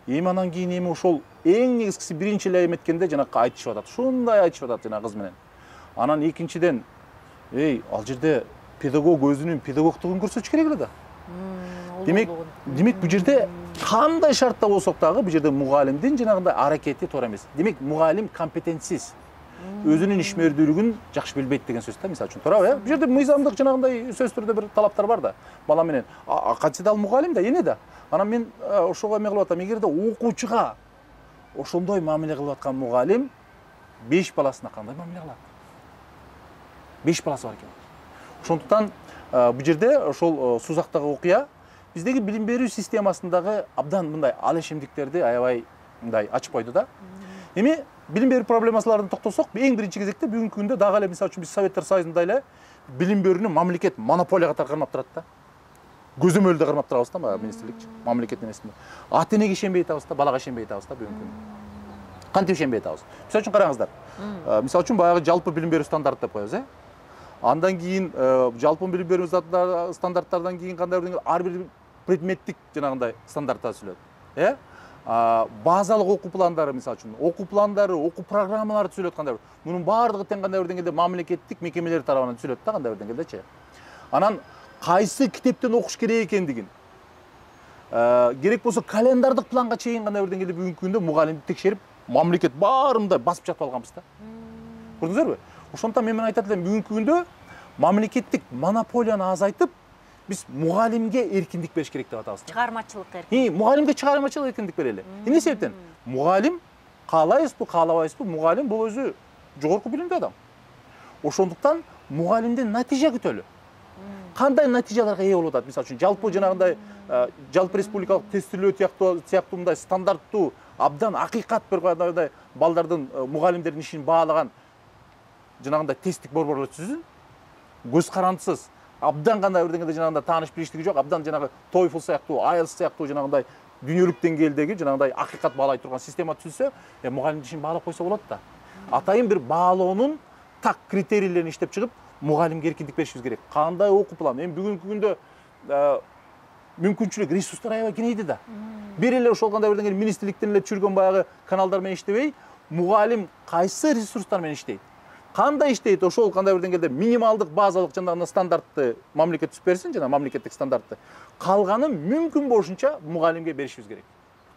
Эми анан кийин эми ошол эң негизгиси биринчи эле эметкенде жанагы айтышып атат. Шундай айтышып атат жана кыз менен. Анан экинчиден, ал жерде педагог өзүнүн педагогдугун көрсөтүш керек эле да. Демек бул жерде кандай шартта болсок дагы бул жерде мугалимдин жанагындай аракети туура эмес. Демек мугалим компетентсиз. Өзүнүн ишмердүүлүгүн жакшы билбейт деген сөз да, мисалы үчүн. Туурабы? Бул жерде мыйзамдык жанагындай сөз түрдө бир талаптар бар да. Бала менен кантсе да ал мугалим да, эне да. Анан мен ошого эме кылып атам, эгерде окуучуга ошондой мамиле кылып аткан мугалим 5 баласына кандай мамиле кылат? 5 баласы бар экен. Ошондуктан бул жерде ошол сузактагы окуя биздеги билим берүү системасындагы абдан мындай ал эшемдиктерди аябай мындай ачып койду да. Эми билим берүү проблемаларына токтолсок, эң биринчи кезекте бүгүнкү күндө дагы эле мисалы үчүн биз Советтер Союзунда эле билим берүүнү мамлекет монополия катары кармап турат да. Көзөмөлдө кармап турабыз да, министрлик, мамлекет эмесинде. Ата энеге ишенбей атабыз да, балага ишенбей атабыз да бүгүнкү күндө. Кантип ишенбей атабыз? Мисалы үчүн караңыздар. Мисалы үчүн баягы жалпы билим берүү стандарт деп коебуз, Андан кийин жалпы билим берүү стандарттардан кийин кандай ар бир предметтик жанагындай стандарттар түзүлөт. Базалык окуу пландары, мисалы үчүн, окуу пландары, окуу программалары түзүлөт кандай бир. Мунун баардыгы тең кандай бир деңгээлде мамлекеттик мекемелер тарабынан түзүлөт да, кандай бир деңгээлдечи. Анан кайсы китептен окуш керек экендигин, керек болсо календардык планга чейин кандай бир деңгээлде бүгүнкү күндө мугалимди текшерип, мамлекет баарында басып жатып алганбыз да. Көрдүңүзөрбү? Ошондуктан мен айтат элем, бүгүнкү күндө мамлекеттик монополияны азайтып, биз мугалимге эркиндик бериш керек деп атабыз. Чыгармачылык эркиндик. Мугалимге чыгармачылык эркиндик берели. Эмне себептен? Мугалим каалайбызбы, каалабайбызбы, мугалим бул өзү жогорку билимдүү адам. Ошондуктан мугалимден натыйжа күтөлү. Кандай натыйжаларга ээ болуп атат? Мисалы үчүн, жалпы жанагындай жалпы республикалык тестилөө сыяктуу мындай стандарттуу, абдан акыйкат бир кандай балдардын, мугалимдердин ишин баалаган жанагындай тесттик борборлор түзүлсүн. Көз карандысыз, абдан кандай бир деңгээлде жанагындай тааныш билиштиги жок, абдан жанагы TOEFL сыяктуу, IELTS сыяктуу жанагындай дүйнөлүк деңгээлдеги жанагындай акыйкат баалай турган система түзүлсө, мугалимдин ишин баалап койсо болот да. Атайын бир баалоонун так критерийлерин иштеп чыгып, мугалимге эркиндик беришибиз керек. Кандай окуу план? Эми бүгүнкү күндө мүмкүнчүлүк, ресурстар аябай кеңейди да. Бир эле ошол кандай бир деңгээлде министрликтен эле түшүргөн баягы каналдар менен иштебей, мугалим кайсы ресурстар менен иштейт? Кандай иштейт? Ошол кандай бир деңгээлде минималдык базалык жанагы стандартты мамлекет түзүп берсин, жана мамлекеттик стандартты. Калганын мүмкүн болушунча мугалимге беришибиз керек.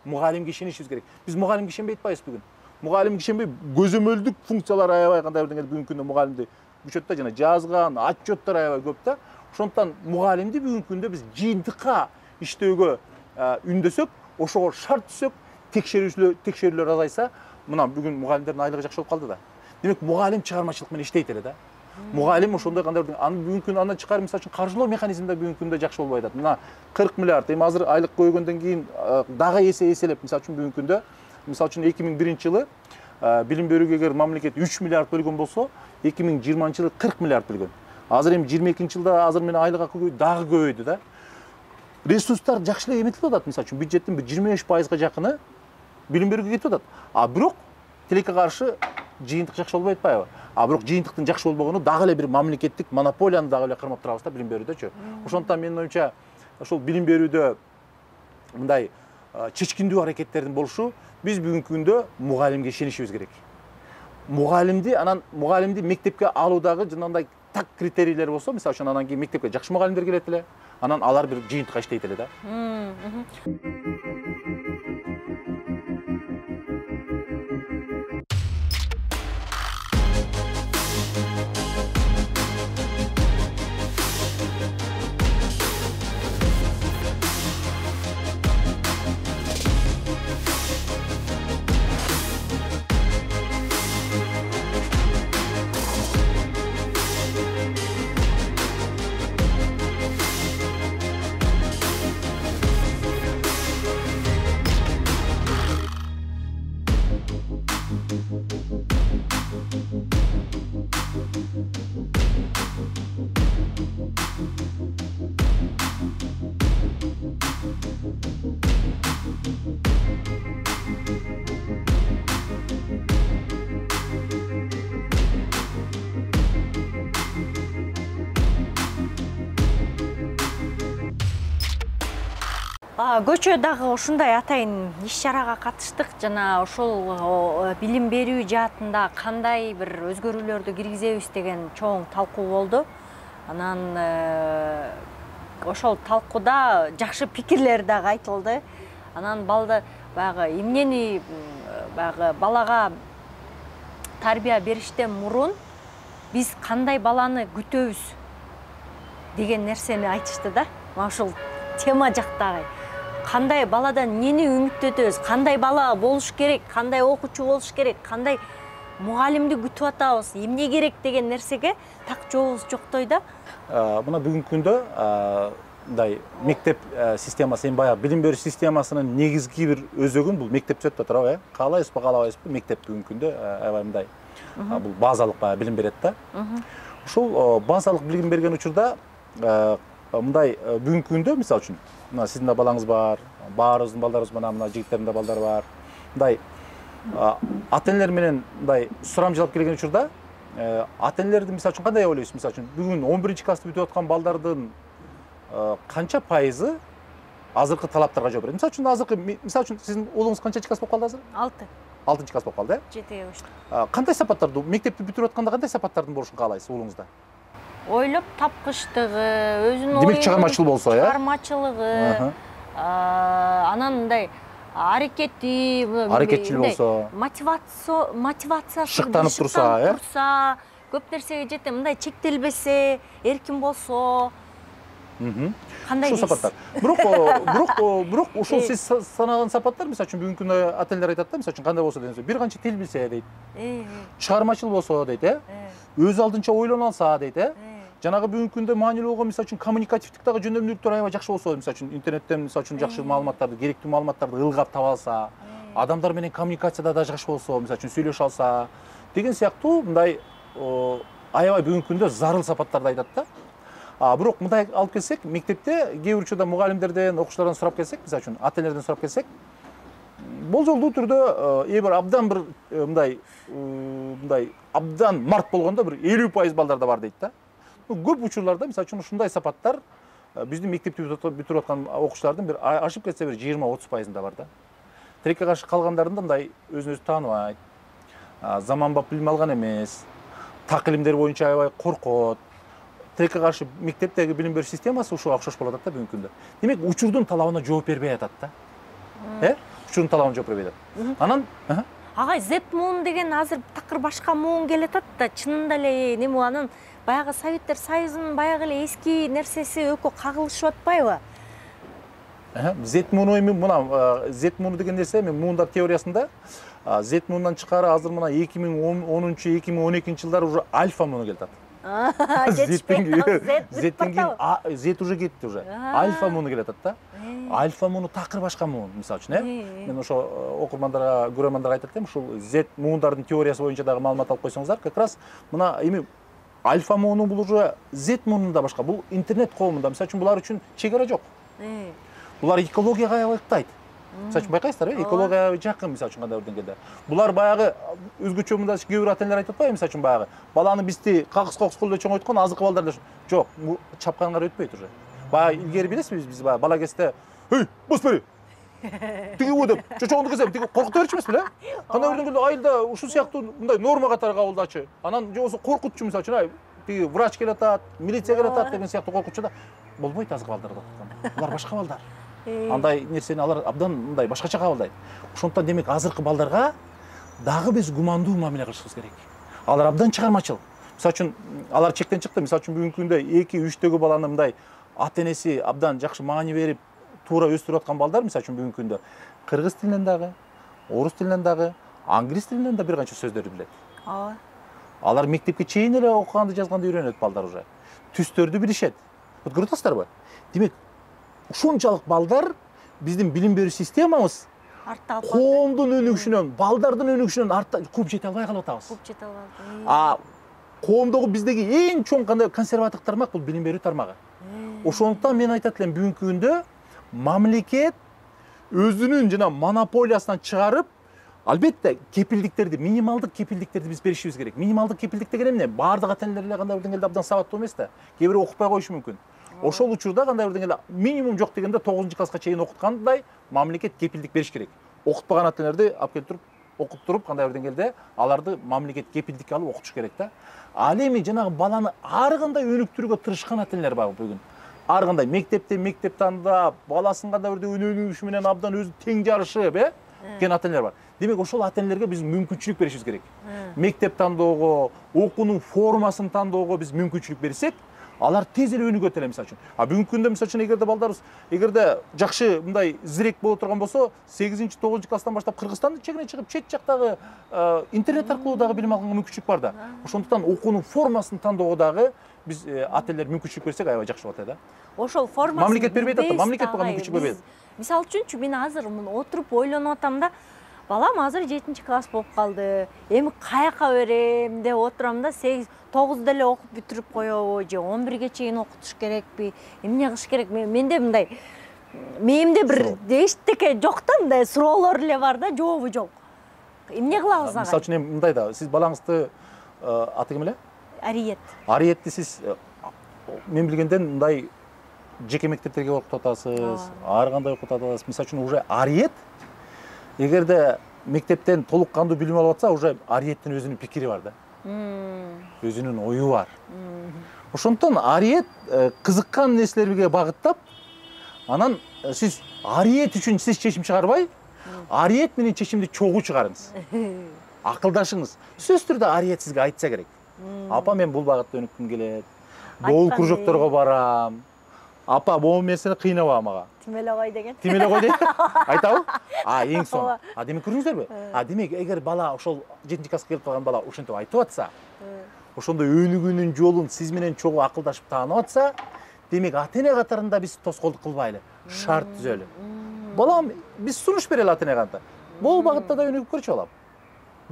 Мугалимге ишенишибиз керек. Биз мугалимге ишенбей атпайбыз бүгүн. Мугалимге ишенбей, көзөмөлдүк функциялар аябай кандай бир деңгээлде бүгүнкү күндө мугалимди күчөт да, жана жазган отчеттор аябай көп да. Ошондуктан мугалимди бүгүнкү күндө биз жыйынтыкка иштөөгө үндөсөк, ошого шарт түзсөк, текшерүүлөр азайса, мына бүгүн мугалимдердин айлыгы жакшы болуп калды да. Демек мугалим чыгармачылык менен иштейт эле да. Мугалим ошондой кандай бир бүгүнкү күндө андан чыкар, мисалы үчүн, каржылоо механизминде бүгүнкү күндө жакшы болбой атат. Мына 40 миллиард, эми азыр айлык көбөйгөндөн кийин дагы эселеп, мисалы үчүн бүгүнкү күндө, мисалы үчүн 2001-жылы билим берүүгө эгер мамлекет 3 миллиард бөлгөн болсо, 2020-жылы 40 миллиард бөлгөн. Азыр эми 22-жылда азыр менен айлык дагы көбөйдү да. Ресурстар жакшы эле эметилип атат, мисалы үчүн бюджеттин 25%га жакыны билим берүүгө кетип атат. Бирок тилекке каршы жыйынтык жакшы болбой атпайбы? Бирок жыйынтыктын жакшы болбогону дагы эле бир мамлекеттик монополияны дагы эле кармап турабыз да билим берүүдөчү. Ошондуктан менин оюмча ошол билим берүүдө мындай чечкиндүү аракеттердин болушу, биз бүгүнкү күндө мугалимге ишенишибиз керек. Мугалимди мектепке алуудагы жанагындай так критерийлер болсо, мисалы үчүн, анан кийин мектепке жакшы мугалимдер келет эле, анан алар бир жыйынтыкка иштейт эле да. Көчө дагы ушундай атайын иш-чарага катыштык. Жана ошол билим берүү жаатында кандай бир өзгөрүүлөрдү киргизебиз деген чоң талкуу болду. Анан ошол талкууда жакшы пикирлер дагы айтылды. Анан баягы эмнени баягы балага тарбия бериштен мурун биз кандай баланы күтөбүз деген нерсени айтышты да. Мына ушул тема жактагы кандай баладан эмнени үмүттөтөбүз, кандай бала болуш керек, кандай окуучу болуш керек, кандай мугалимди күтүп атабыз, эмне керек деген нерсеге так жообубуз жоктой да. Мына бүгүнкү күндө мындай мектеп системасы, эми баягы билим берүү системасынын негизги бир өзөгүн бул мектеп түзөт да турабы, каалайбызбы, каалабайбызбы, мектеп бүгүнкү күндө аябай мындай бул базалык баягы билим берет да. Ушул базалык билим берген учурда мындай бүгүнкү күндө мисалы үчүн мына сиздин да балаңыз бар, баарыбыздын балдарыбыз мына жигиттердин да балдары бар. Мындай ата-энелер менен мындай сурамжылап келген учурда ата-энелерди мисалы үчүн кандай ойлойсуз? Мисалы үчүн бүгүн 11 классты бүтүп аткан балдардын канча пайызы азыркы талаптарга жооп берет? Мисалы үчүн мисалы үчүн сиздин уулуңуз канчанчы класс болуп калды азыр? 6 класс болуп калды, э? 7-ге көчтү. Кандай сапаттарды, мектепти бүтүрүп атканда кандай сапаттардын болушун каалайсыз уулуңузда? Ойлоп тапкычтыгы, өзүнүн демек чыгармачыл болсо, э? Чыгармачылыгы, анан мындай аракетчил болсо, мотивациясы шыктанып турса, көп нерсеге жете, мындай чектелбесе, эркин болсо. Кандай ушул сапаттар. Бирок ушул сиз санаган сапаттар, мисалы үчүн бүгүнкү күндө ата-энелер айтат да, мисалы үчүн кандай болсо дегенде, бир канча тил билсе дейт. Чыгармачыл болсо дейт, э? Өз алдынча ойлоно алса дейт, э? Жанагы бүгүнкү күндө маанилүү болгон мисалы үчүн коммуникативдик дагы жөндөмдүүлүктөр аябай жакшы болсо, мисалы үчүн интернеттен мисалы үчүн жакшы маалыматтарды, керектүү маалыматтарды ылгап таба алса, адамдар менен коммуникацияда да жакшы болсо, мисалы үчүн сүйлөшө алса деген сыяктуу мындай аябай бүгүнкү күндө зарыл сапаттарды айтат да. Бирок мындай алып келсек, мектепте кээ бир учурда мугалимдерден, окуучулардан сурап келсек, мисалы үчүн ата-энелерден сурап келсек, болжолдуу түрдө бир абдан бир мындай абдан март болгондо бир 50% балдарда бар дейт да. Көп учурларда мисалы үчүн ушундай сапаттар биздин мектепти бүтүрүп аткан окуучулардын бир ашып кетсе бир 20-30%-ында бар да. Тилекке каршы калгандарында мындай өзүн өзү тааныбайт, заманбап билим алган эмес, так илимдер боюнча аябай коркот. Тилекке каршы мектептеги билим берүү системасы ушуга окшош болуп атат да бүгүнкү күндө. Демек учурдун талабына жооп бербей атат да. Учурдун талабына жооп бербей атат. Анан агай Z-муун деген азыр такыр башка муун келатат да, чынында эле неме анын баягы Советтер Союзунун баягы эле эски нерсеси өкө кагылышып атпайбы? Z-мууну эми мына Z-мууну деген нерсе эми муундар теориясында Z-муундан чыккары азыр мына 2010-2012 жылдары уже альфа мууну келатат. Z уже кетти уже. Альфа мууну келатат да. Альфа мууну такыр башка муун, мисалы үчүн, э? Мен ошо окурмандарга, көрөрмандарга айтат элем, ушул Z муундардын теориясы боюнча дагы маалымат алып койсоңуздар, как раз мына эми альфа мууну бул уже Z муунунда башка. Бул интернет коомунда, мисалы үчүн булар үчүн чегара жок. Булар экологияга аябай ыктайт. Мисалы үчүн байкайсыздар, экологияга жакын, мисалы үчүн кандай бир деңгээлде. Булар баягы өзгөчө мында кээ бир ата-энелер айтып атпайбы, мисалы үчүн баягы баланы бизди какыс кылып чоңойткон азыркы балдар жок, чапканга өтпөйт уже. Баягы илгери билесизби, биз баягы бала кезде "Эй, бос бери. Тиги о" деп чочоңду кезем, тиги коркута берчү эмеспи эле? Кандай бир деңгээлде айылда ушул сыяктуу мындай норма катары кабылдачы. Анан же болбосо коркутчу, мисалы үчүн, тиги врач келип атат, милиция келип атат деген сыяктуу коркутчу да. Болбойт азыркы балдарда. Булар башка балдар. Андай нерсени алар абдан мындай башкача кабылдайт. Ошондуктан демек азыркы балдарга дагы биз гумандуу мамиле кылышыбыз керек. Алар абдан чыгармачыл. Мисалы үчүн алар чектен чыкты. Мисалы үчүн бүгүнкү күндө 2-3төгү баланы мындай ата-энеси абдан жакшы маани берип туура өстүрүп аткан балдар, мисалы үчүн бүгүнкү күндө кыргыз тилинен дагы, орус тилинен дагы, англис тилинен да бир канча сөздөрдү билет. Алар мектепке чейин эле окуганды, жазганды үйрөнөт балдар уже. Түстөрдү билишет. Вот көрүп атасыздарбы? Демек ушунчалык балдар биздин билим берүү системабыз артта калып коомдун өнүгүшүнөн, балдардын өнүгүшүнөн артта кууп жете албай калып атабыз. Кууп жете албайбыз. Коомдогу биздеги эң чоң кандай консервативдик тармак бул билим берүү тармагы. Ошондуктан мен айтат элем бүгүнкү күндө мамлекет өзүнүн жана монополиясынан чыгарып, албетте кепилдиктерди, минималдык кепилдиктерди биз беришибиз керек. Минималдык кепилдик деген эмне? Баардык ата-энелер эле кандай бир деңгээлде абдан сабаттуу эмес да. Кээ бирөө окутпай коюшу мүмкүн. Ошол учурда кандай бир деңгээлде минимум жок дегенде 9-класска чейин окуткандай мамлекет кепилдик бериш керек. Окутпаган ата-энелерди алып келип туруп, окуттуруп кандай бир деңгээлде аларды мамлекет кепилдикке алып окутуш керек да. Ал эми жанагы баланы ар кандай өнүктүрүүгө тырышкан ата-энелер бар бүгүн. Ар кандай мектеп тандап, баласын кандай бир өнүгүшү менен абдан өзү тең жарышып, кен ата-энелер бар. Демек ошол ата-энелерге биз мүмкүнчүлүк беришибиз керек. Мектеп тандоого, окуунун формасын тандоого биз мүмкүнчүлүк берсек, алар тез эле өнүгөт эле мисалы үчүн. Бүгүнкү күндө мисалы үчүн эгерде балдарыбыз эгерде жакшы мындай зирек боло турган болсо, 8-9-класстан баштап Кыргызстандын чегине чыгып, чет жактагы интернет аркылуу дагы билим алганга мүмкүнчүлүк бар да. Ошондуктан окуунун формасын тандоого дагы биз ата-энелер мүмкүнчүлүк берсек, аябай жакшы болот да. Ошол формасын мамлекет бербейт да, мамлекет буга мүмкүнчүлүк бербейт. Мисалы үчүнчү мен азыр отуруп ойлонуп атам да, балам азыр 7-класс болуп калды. Эми каяка берем деп отурам да, 8-9 деле окуп бүтүрүп коебу же 11ге чейин окутуш керекпи? Эмне кылыш керек? Менде мындай мээмде бир эчтеке жок да, мындай суроолор эле бар да, жообу жок. Эмне кылабыз ага? Мисалы үчүн эми мындай да, сиз балаңызды аты ким эле? Ариет. Ариетти сиз мен билгенден мындай жеке мектептерге окутуп атасыз, ар кандай окутуп атасыз. Мисалы үчүн уже Ариет эгерде мектептен толук кандуу билим алып атса, уже Ариеттин өзүнүн пикири бар да. Өзүнүн ою бар. Ошондуктан Ариет кызыккан нерселерге багыттап, анан сиз Ариет үчүн сиз чечим чыгарбай, Ариет менен чечимди чогуу чыгарыңыз. Акылдашыңыз. Сөзсүз түрдө Ариет сизге айтса керек. Апа, мен бул багытта өнүккүм келет. Бул кружокторго барам. Апа, бул нерсени кыйнабагам ага. Тимеле кой деген. Тимеле кой дейт. Айтабы? Эң соң. Демек көрдүңүздөрбү? Демек эгер бала ошол 7-класска келип калган бала ошентип айтып атса, ошондой өнүгүүнүн жолун сиз менен чогуу акылдашып таанып атса, демек ата-эне катарында биз тоскоолдук кылбайлы, шарт түзөлү. Балам, биз сунуш берели ата-эне катарында. Бул багытта да өнүгүп көрчү балам.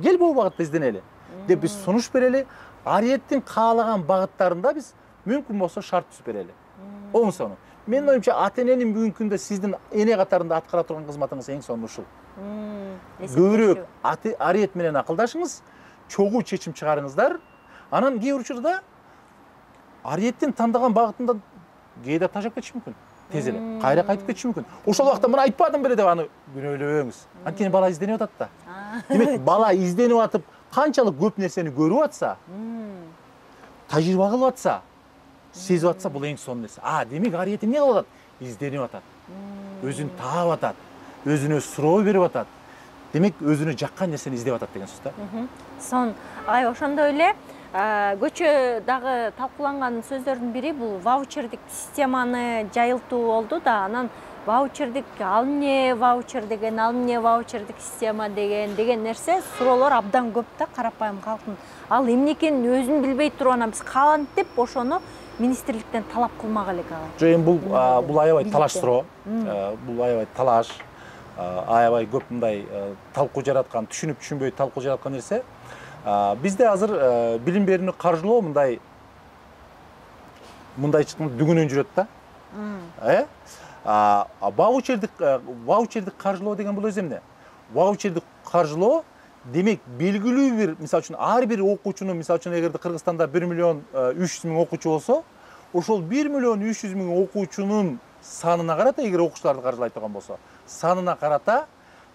Кел бул багытта изденели деп биз сунуш берели. Ариеттин каалаган багыттарында биз мүмкүн болсо шарт түзүп берели. Оң сону. Менин оюмча ата-эненин бүгүнкү күндө сиздин эне катарында аткара турган кызматыңыз эң сонун ушул. Көбүрөөк Ариет менен акылдашыңыз, чогуу чечим чыгарыңыздар. Анан кээ бир учурда Ариеттин тандаган багытында кээде тажап кетиши мүмкүн. Тез эле кайра кайтып кетиши мүмкүн. Ошол убакта мына айтпадым беле деп аны күнөөлөбөңүз. Анткени бала изденип атат да. Демек бала изденип атып, канчалык көп нерсени көрүп атса, тажрыйба кылып атса, сезип атса, бул эң сонун нерсе. Демек Ариет эмне кылып атат? Изденип атат. Өзүн таап атат. Өзүнө суроо берип атат. Демек өзүнө жаккан нерсени издеп атат деген сөз да. Сон, ошондой эле көчөдагы талкууланган сөздөрдүн бири бул ваучердик системаны жайылтуу болду да. Анан ваучердик, ал эмне ваучер деген, ал эмне ваучердик система деген нерсе суроолор абдан көп да карапайым калктын. Ал эмне экенин өзүн билбей туруп анан биз кантип ошону министрликтен талап кылмак элек ага. Жок, эми бул аябай талаш суроо. Бул аябай талаш, аябай көп мындай талкуу жараткан, түшүнүп-түшүнбөй талкуу жараткан нерсе. Бизде азыр билим берүүнү каржылоо мындай дүгүнөн жүрөт да. Ваучердик каржылоо деген бул өзү эмне? Ваучердик каржылоо демек белгилүү бир, мисалы үчүн ар бир окуучунун, мисалы үчүн эгерде Кыргызстанда 1.300.000 окуучу болсо, ошол 1.300.000 окуучунун санына карата, эгер окуучуларды каржылай турган болсо, санына карата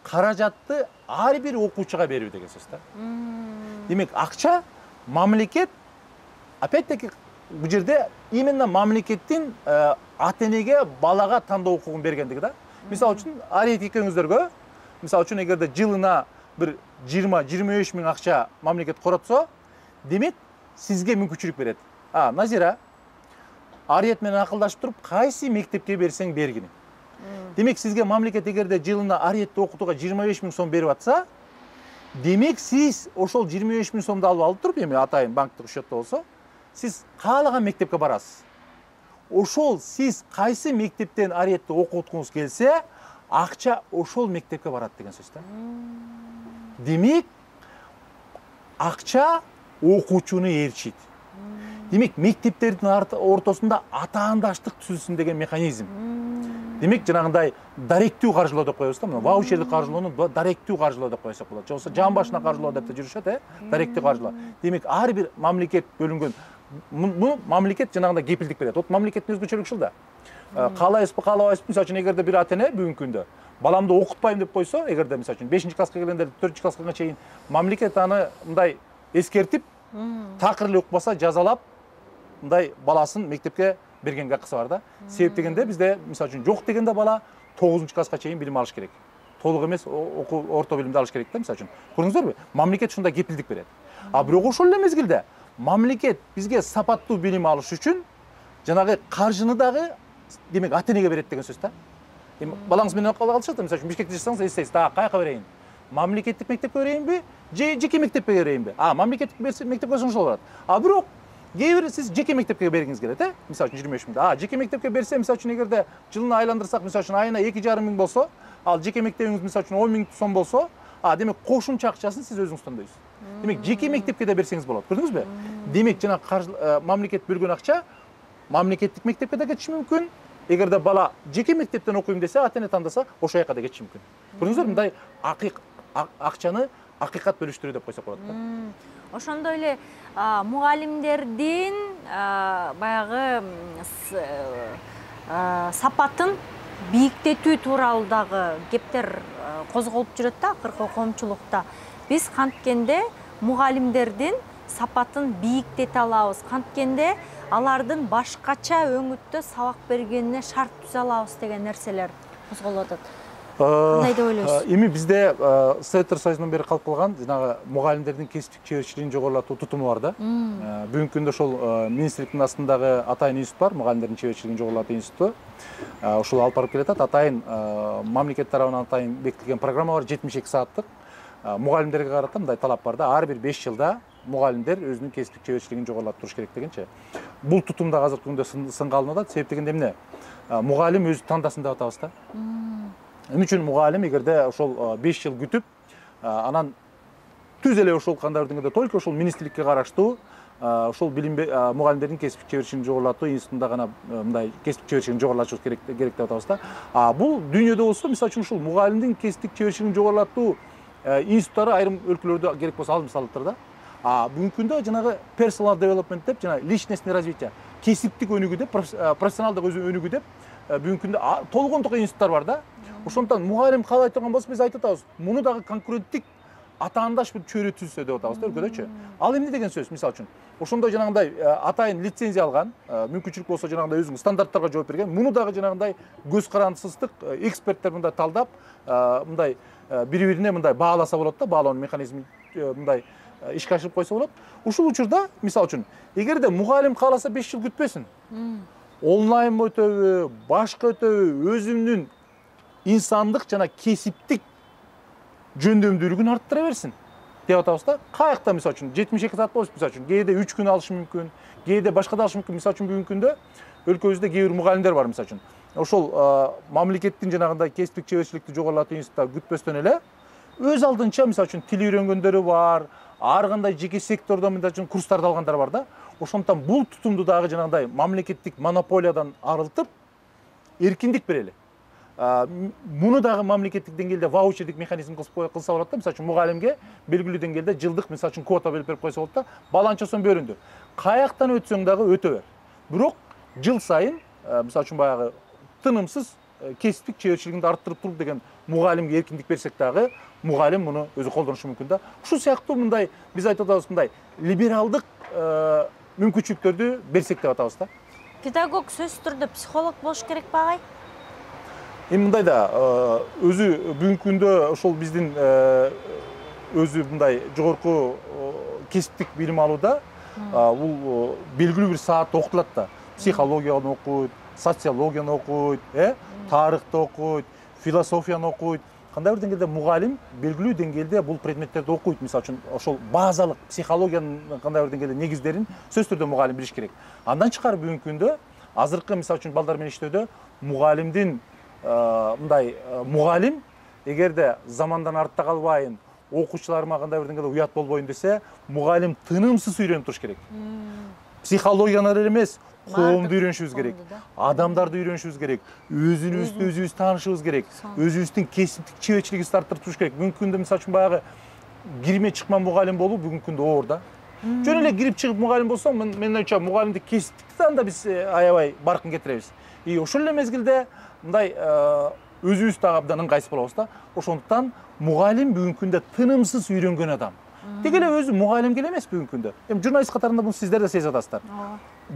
каражатты ар бир окуучуга берүү деген сөз да. Демек акча мамлекет, опять-таки бул жерде именно мамлекеттин ата-энеге балага тандоо укугун бергендиги да. Мисалы үчүн Ариет экөөңүздөргө, мисалы үчүн эгерде жылына бир 20-25 миң акча мамлекет коротсо, демек сизге мүмкүнчүлүк берет. Назира, Ариет менен акылдашып туруп, кайсы мектепке берсең бергин. Демек сизге мамлекет эгерде жылына Ариетти окутууга 25 миң сом берип атса, демек сиз ошол 25 миң сомду алып туруп, эми атайын банктык счетто болсо, сиз каалаган мектепке барасыз. Ошол сиз кайсы мектептен Ариетти окуткуңуз келсе, акча ошол мектепке барат деген сөз да. Демек акча окуучуну ээрчийт. Демек мектептердин ортосунда атаандаштык түзүлсүн деген механизм. демек жанагындай даректүү каржылоо деп коебуз да, мына ваучерлик каржылоону даректүү каржылоо деп койсок болот. Же болбосо жан башына каржылоо деп жүрүшөт, даректүү каржылоо. Демек ар бир мамлекет бөлүнгөн, бул мамлекет жанагындай кепилдик берет. Вот мамлекеттин өзгөчөлүгү ушул да. Каалайбызбы, каалабайбызбы, мисалы үчүн эгерде бир ата-эне бүгүнкү күндө баламды окутпайм деп койсо, эгерде мисалы үчүн 5-класска келгенде 4-класска чейин мамлекет аны мындай эскертип, такыр эле укпаса жазалап, мындай баласын мектепке бергенге акысы бар да. Себеп дегенде бизде мисалы үчүн жок дегенде бала 9-класска чейин билим алыш керек. Толук эмес, орто билимди алыш керек да, мисалы үчүн. Көрдүңүздөрбү? Мамлекет ушундай кепилдик берет. А бирок ошол эле мезгилде мамлекет бизге сапаттуу билим алыш үчүн жанагы каржыны дагы демек ата-энеге берет деген сөз да. Эми балаңыз менен калышат, мисалы үчүн Бишкекте жашасаңыз эстейсиз, каяка берейин? Мамлекеттик мектепке берейинби, же жеке мектепке берейинби? Мамлекеттик мектепке берсең ошол болот. А бирок кээ бир сиз жеке мектепке бергиңиз келет, мисалы үчүн 25 миң. Жеке мектепке берсе, мисалы үчүн эгерде жылына айландырсак, мисалы үчүн айына 2,5 миң болсо, ал жеке мектебиңиз мисалы үчүн 10 миң сом болсо, демек кошумча акчасын сиз өзүңүз тандайсыз. Демек жеке мектепке да берсеңиз болот. Көрдүңүзбү? Демек жана мамлекет бөлгөн акча мамлекеттик мектепке да кетиши мүмкүн. Эгерде бала жеке мектептен окуйм десе, ата-эне тандаса, ошол жака да кетиши мүмкүн. Көрдүңүзбү? Мындай акчаны акыйкат бөлүштүрүү деп койсок болот да. Ошондой эле мугалимдердин баягы сапатын бийиктетүү тууралуу дагы кептер козголуп жүрөт да, акыркы коомчулукта. Биз канткенде мугалимдердин сапатын бийиктете алабыз, канткенде алардын башкача өңүттө сабак бергенине шарт түзө алабыз деген нерселер козголуп атат. Кандай деп ойлойсуз? Эми бизде Советтер Союзунан бери калып калган жанагы мугалимдердин кесиптик чеберчилигин жогорулатуу тутуму бар да. Бүгүнкү күндө ошол министрликтин астындагы атайын институт бар, мугалимдердин чеберчилигин жогорулатуу институту. Ушул алып барып келатат. Атайын мамлекет тарабынан атайын бекитилген программа бар, 72 сааттык. Мугалимдерге карата мындай талап бар да, ар бир 5 жылда мугалимдер өзүнүн кесиптик чеберчилигин жогорулатып туруш керек дегенчи. Бул тутум да азыркы күндө сынга алынып атат. Себеп дегенде эмне? Мугалим өзү тандасын деп атабыз да. Эмне үчүн мугалим эгерде ошол 5 жыл күтүп, анан түз эле ошол кандай деңгээлде только ошол министрликке караштуу ошол мугалимдердин кесиптик чеберчилигин жогорулатуу институтунда гана мындай кесиптик чеберчилигин жогорулатыш керек деп атабыз да. Бул дүйнөдө болсо, мисалы үчүн ушул мугалимдин кесиптик чеберчилигин жогорулатуу институттары айрым өлкөлөрдө керек болсо алып салыптыр да. Бүгүнкү күндө жанагы personal development деп, жана личностный развитие, кесиптик өнүгүү деп, профессионалдык өнүгүү деп бүгүнкү күндө толгондук институттар бар да. Ошондон мугалим каалай турган болсо биз айтып атабыз, муну дагы конкуренттик атаандаш бир чөйрө түзсө деп атабыз да өлкөдөчү. Ал эмне деген сөз? Мисалы үчүн, ошондой жанагындай атайын лицензия алган, мүмкүнчүлүк болсо жанагындай өзүнүн стандарттарга жооп берген, муну дагы жанагындай көз карандысыздык эксперттер мындай талдап, мындай бири-бирине мындай бааласа болот да, баалоо механизми мындай ишке ашырып койсо болот. Ушул учурда, мисалы үчүн, эгерде мугалим кааласа 5 жыл күтпөсүн. Онлайн өтөбү, башка өтөбү, өзүнүн инсандык жана кесиптик жөндөмдүүлүгүн арттыра берсин деп атабыз да. Каякта мисалы үчүн 72 саат болсо, мисалы үчүн кээде 3 күн алышы мүмкүн, кээде башка да алышы мүмкүн. Мисалы үчүн бүгүнкү күндө өлкөбүздө кээ бир мугалимдер бар, мисалы үчүн. Ошол мамлекеттин жанагындай кесиптик чеберчиликти жогорулатуу институтта күтпөстөн эле өз алдынча мисалы үчүн тил үйрөнгөндөрү бар, ар кандай жеке сектордон мисалы үчүн курстарды алгандар бар да. Ошондон бул тутумду дагы жанагындай мамлекеттик монополиядан арылтып, эркиндик берели. Муну дагы мамлекеттик деңгээлде ваучердик механизм кылса болот да. Мисалы үчүн мугалимге белгилүү деңгээлде жылдык мисалы үчүн квота берип койсо болот да. Баланча сом бөлүндү. Каяктан өтсөң дагы өтө бер. Бирок жыл сайын мисалы үчүн баягы тынымсыз кесиптик чеберчилигинди арттырып туруп деген мугалимге эркиндик берсек дагы мугалим муну өзү колдонушу мүмкүн да. Ушул сыяктуу мындай биз айтып атабыз, мындай либералдык мүмкүнчүлүктөрдү берсек деп атабыз да. Педагог сөзсүз түрдө психолог болуш керек багай? Эми мындай да, өзү бүгүнкү күндө ошол биздин өзү мындай жогорку кесиптик билим алууда бул белгилүү бир саатта окутулат да. Психологияны окуйт, социологияны окуйт, тарыхты окуйт, философияны окуйт. Кандай бир деңгээлде мугалим белгилүү деңгээлде бул предметтерди окуйт. Мисалы үчүн, ошол базалык психологиянын кандай бир деңгээлде негиздерин сөзсүз түрдө мугалим билиш керек. Андан чыкар бүгүнкү күндө азыркы мисалы үчүн балдар менен иштөөдө мугалимдин мындай мугалим эгерде замандан артта калбайын, окуучуларыма кандай бир деңгээлде уят болбойн десе, мугалим тынымсыз үйрөнүп туруш керек. психологияны эле эмес, коомду үйрөнүшүбүз керек, адамдарды үйрөнүшүбүз керек, өзүбүздү таанышыбыз керек, өзүбүздүн кесиптик чеберчилигибизди арттырып туруш керек. Бүгүнкү күндө мисалы үчүн баягы кирме чыкма мугалим болуу бүгүнкү күндө оор да. Жөн эле кирип чыгып мугалим болсоң, менин оюмча мугалимдик кесиптикти анда биз аябай баркын кетиребиз. Ошол эле мезгилде мындай өзүбүз дагы абдан ыңгайсыз болобуз да. Ошондуктан мугалим бүгүнкү күндө тынымсыз үйрөнгөн адам. Тек эле өзү мугалимге эле эмес бүгүнкү күндө. Эми журналист катарында муну сиздер да сезип атасыздар.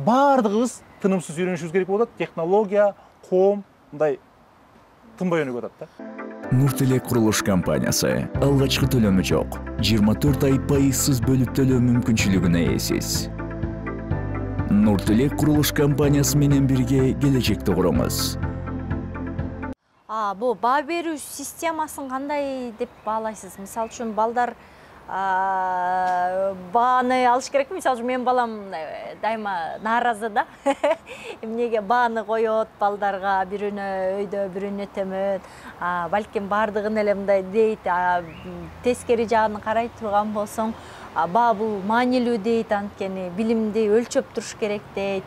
Баардыгыбыз тынымсыз үйрөнүшүбүз керек болуп атат. Технология, коом мындай тынбай өнүгүп атат да. Нуртилек курулуш компаниясы алгачкы төлөмү жок. 24 ай пайызсыз бөлүп төлөө мүмкүнчүлүгүнө ээсиз. Нуртилек курулуш компаниясы менен бирге келечекти куруңуз. Бул баа берүү системасын кандай деп баалайсыз? Мисалы үчүн балдар бааны алыш керекпи? Мисалы үчүн менин балам дайыма нааразы да. Эмнеге бааны коёт балдарга, бирөөнө өйдө, бирөөнө төмөн. Балким бардыгын эле мындай дейт, тескери жагын карай турган болсоң, баа бул маанилүү дейт, анткени билимди өлчөп туруш керек дейт.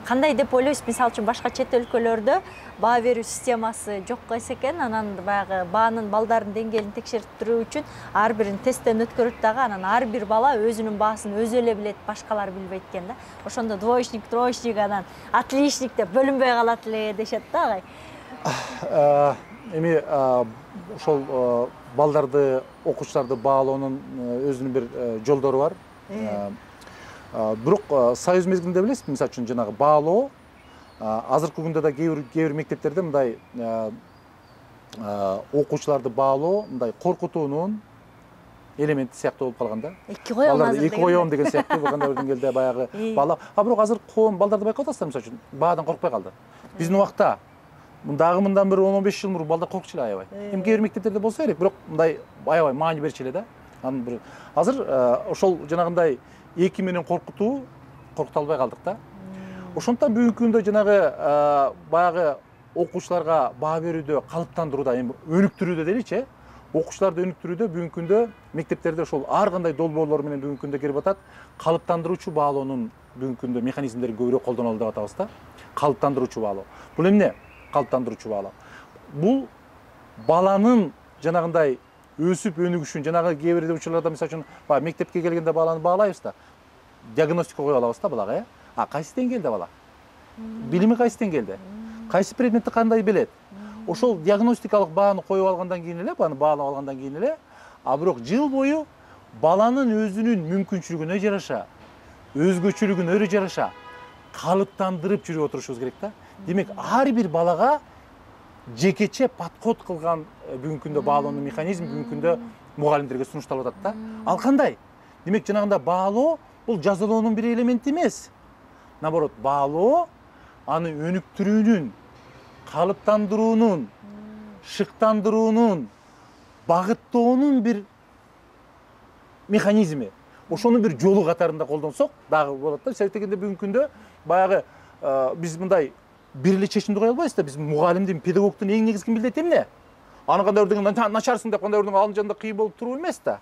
Кандай деп ойлойсуз? Мисалы үчүн башка чет өлкөлөрдө баа берүү системасы жокко эсекен, анан баягы баанын балдардын деңгээлин текшертүү үчүн ар бирин тесттен өткөрүп дагы, анан ар бир бала өзүнүн баасын өзү эле билет, башкалар билбейт экен да. Ошондо двоечник, троечник, анан отличник деп бөлүнбөй калат эле дешет да агай. Эми ошол балдарды, окуучуларды баалоонун өзүнүн бир жолдору бар. Бирок союз мезгилинде билесизби, мисалы үчүн жанагы баалоо азыркы күндө да кээ бир мектептерде мындай окуучуларды баалоо мындай коркутуунун элементи сыяктуу болуп калган да. Эки коем азыр. Эки коем деген сыяктуу кандай бир деңгээлде баягы бала. Бирок азыр коом балдарды байкап атасыздар, мисалы үчүн баадан коркпой калды. Биздин убакта дагы мындан бир 10-15 жыл мурун балдар коркчу эле аябай. Эми кээ бир мектептерде болсо керек, бирок мындай аябай маани берчү эле да. Анын бир азыр ошол жанагындай эки менен коркута албай калдык да. Ошондуктан бүгүнкү күндө жанагы баягы окуучуларга баа берүүдө калыптандырууда, эми өнүктүрүүдө дейли, окуучуларды өнүктүрүүдө бүгүнкү күндө мектептерде ошол ар кандай долбоорлор менен бүгүнкү күндө кирип атат. Калыптандыруучу баалоонун бүгүнкү күндө механизмдерин көбүрөөк колдонолу деп атабыз да. Калыптандыруучу баалоо. Бул эмне? Калыптандыруучу баалоо. Бул баланын жанагындай өсүп өнүгүшүн, жанагы кээ бир учурларда мисалы үчүн мектепке келгенде баланы баалайбыз да. Диагностика кое алабыз да балага, кайсы деңгээлде бала? Билими кайсы деңгээлде? Кайсы предметти кандай билет? Ошол диагностикалык бааны коюп алгандан кийин эле, бааны баалап алгандан кийин эле, бирок жыл бою баланын өзүнүн мүмкүнчүлүгүнө жараша, өзгөчөлүгүнө жараша калыптандырып жүрүп отурушубуз керек да. Демек, ар бир балага жекече подход кылган бүгүнкү күндө баалоонун механизми бүгүнкү күндө мугалимдерге сунушталып атат да. Ал кандай? Демек, жанагында баалоо бул жазалоонун бир элементи эмес. Наоборот, баалоо аны өнүктүрүүнүн, калыптандыруунун, шыктандыруунун, багыттоонун бир механизми. Ошонун бир жолу катарында колдонсок дагы болот да. Себеп дегенде бүгүнкү күндө баягы биз мындай бир эле чечимди кое албайбыз да. Биз мугалимдин, педагогдун эң негизги милдети эмне? Аны кандай бирден начарсың деп кандай бирден алын жанында кыйын болуп туруу эмес да.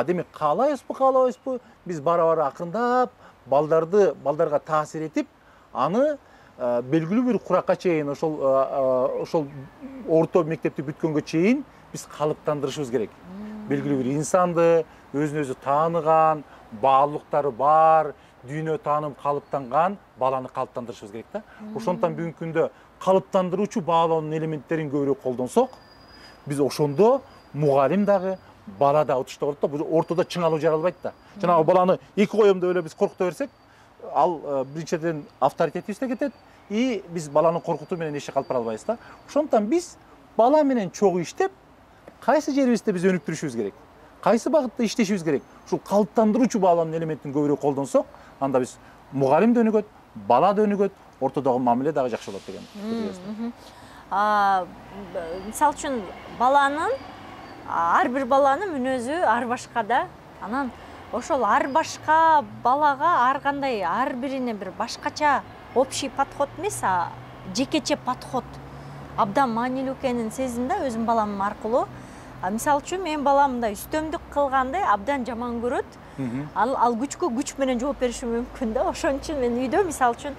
Демек, каалайбызбы, биз бара-бара акырындап балдарга таасир этип, аны белгилүү бир куракка чейин ошол орто мектепти бүткөнгө чейин биз калыптандырышыбыз керек. Белгилүү бир инсанды, өзүн өзү тааныган, баалуулуктары бар, дүйнө таанып калыптанган баланы калыптандырышыбыз керек да. Ошондуктан бүгүнкү күндө калыптандыруучу баалоонун элементтерин көбүрөөк колдонсок, биз ошондо мугалим дагы, бала да утушта болот да, бул ортодо чыңалуу жаралбайт да. Жанагы баланы эки коем деп эле биз коркута берсек, ал биринчиден авторитетибиз да кетет, и биз баланы коркутуу менен эч жакка алып бара албайбыз да. Ошондуктан биз бала менен чогуу иштеп, кайсы жерибизде биз өнүктүрүшүбүз керек, кайсы багытта иштешибиз керек, ушул калыптандыруучу баалоонун элементин көбүрөөк колдонсок, анда биз мугалим да өнүгөт, бала да өнүгөт, ортодогу мамиле дагы жакшы болот деген. Мисалы үчүн ар бир баланын мүнөзү ар башка да. Анан ошол ар башка балага ар кандай, ар бирине бир башкача общий подход эмес, жекече подход абдан маанилүү экенин сездим да өзүм балам аркылуу. Мисалы үчүн менин балам мындай үстөмдүк кылганды абдан жаман көрөт. Ал күчкө күч менен жооп бериши мүмкүн да. Ошон үчүн мен үйдө мисалы үчүн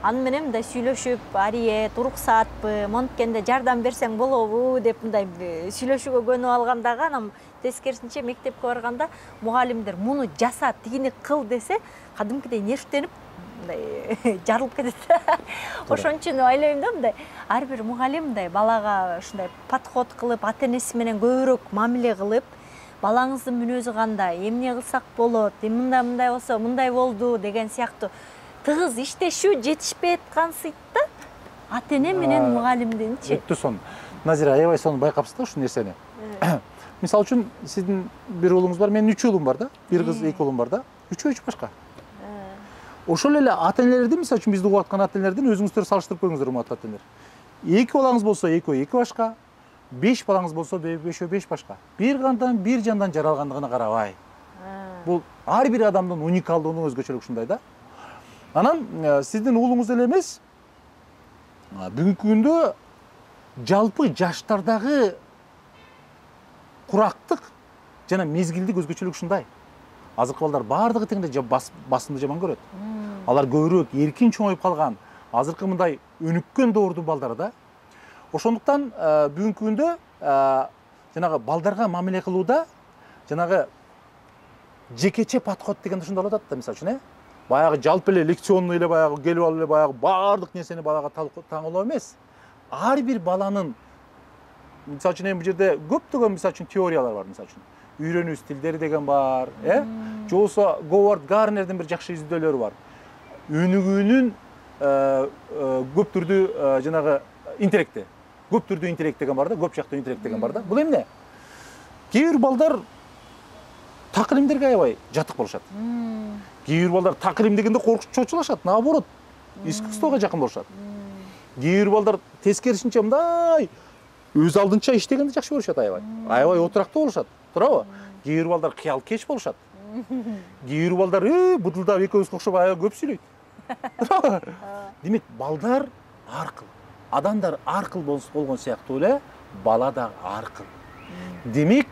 аны менен мындай сүйлөшүп, ариет, уруксаатпы, монткенде жардам берсең болобу деп мындай сүйлөшүүгө көнүп алгандагы, анан тескерисинче мектепке барганда мугалимдер муну жаса, тигини кыл десе, кадимкидей нервтенип мындай жарылып кетет. Ошон үчүн ойлойм да, мындай ар бир мугалим мындай балага ушундай подход кылып, ата-энеси менен көбүрөөк мамиле кылып, балаңыздын мүнөзү кандай, эмне кылсак болот, мындай болсо мындай болду деген сыяктуу тыгыз иштешүү жетишпей аткансыйт да. Ата-эне менен мугалимдинчи. Өттү сон. Назира, аябай сону байкапсыз да ушул нерсени. Мисалы үчүн сиздин бир уулуңуз бар, менин 3 уулум бар да. Бир кыз, 2 уулум бар да. Үчөө башка. Ошол эле ата-энелердин, мисалы үчүн бизди угуп аткан ата-энелердин өзүңүздөр салыштырып көрүңүздөр, урматтуу ата-энелер. 2 балаңыз болсо, 2 башка. 5 балаңыз болсо, 5 башка. Бир кандан, бир жандан жаралгандыгына карабай. Бул ар бир адамдын уникалдыгынын өзгөчөлүгү ушундай да. Анан сиздин уулуңуз эле эмес, бүгүнкү күндө жалпы жаштардагы курактык жана мезгилдик өзгөчөлүк ушундай. Азыркы балдар баардыгы теңде басымды жаман көрөт. Алар көбүрөөк эркин чоңоюп калган, азыркы мындай өнүккөн доордун балдары да. Ошондуктан бүгүнкү күндө жанагы балдарга мамиле кылууда жанагы жекече подход деген ушундай болуп атат да, мисалы үчүн, баягы жалпы эле лекционный эле баягы келип алып эле баягы баардык нерсени балага таңылоо эмес. Ар бир баланын, мисалы үчүн, бул жерде көптөгөн мисалы үчүн теориялар бар, мисалы үчүн. Үйрөнүү стилдери деген бар, же болбосо Говард Гарнердин бир жакшы изилдөөлөрү бар. Өнүгүүнүн көп түрдүү жанагы интеллекти. Көп түрдүү интеллект деген бар да, көп жактуу интеллект деген бар да. Бул эмне? Кээ бир балдар такылимдерге аябай жатык болушат. Кээ бир балдар такылим дегенде коркуп чочулашат, наоборот, искусствого жакын болушат. Кээ бир балдар тескерисинче мындай өз алдынча иштегенди жакшы көрүшөт аябай. Аябай отурактуу болушат, туурабы? Кээ бир балдар кыялкеч болушат. Кээ бир балдар бутулдап экөөбүзгө окшоп аябай көп сүйлөйт. Демек, балдар ар кыл, адамдар ар кыл болгон сыяктуу эле бала да ар кыл. Демек,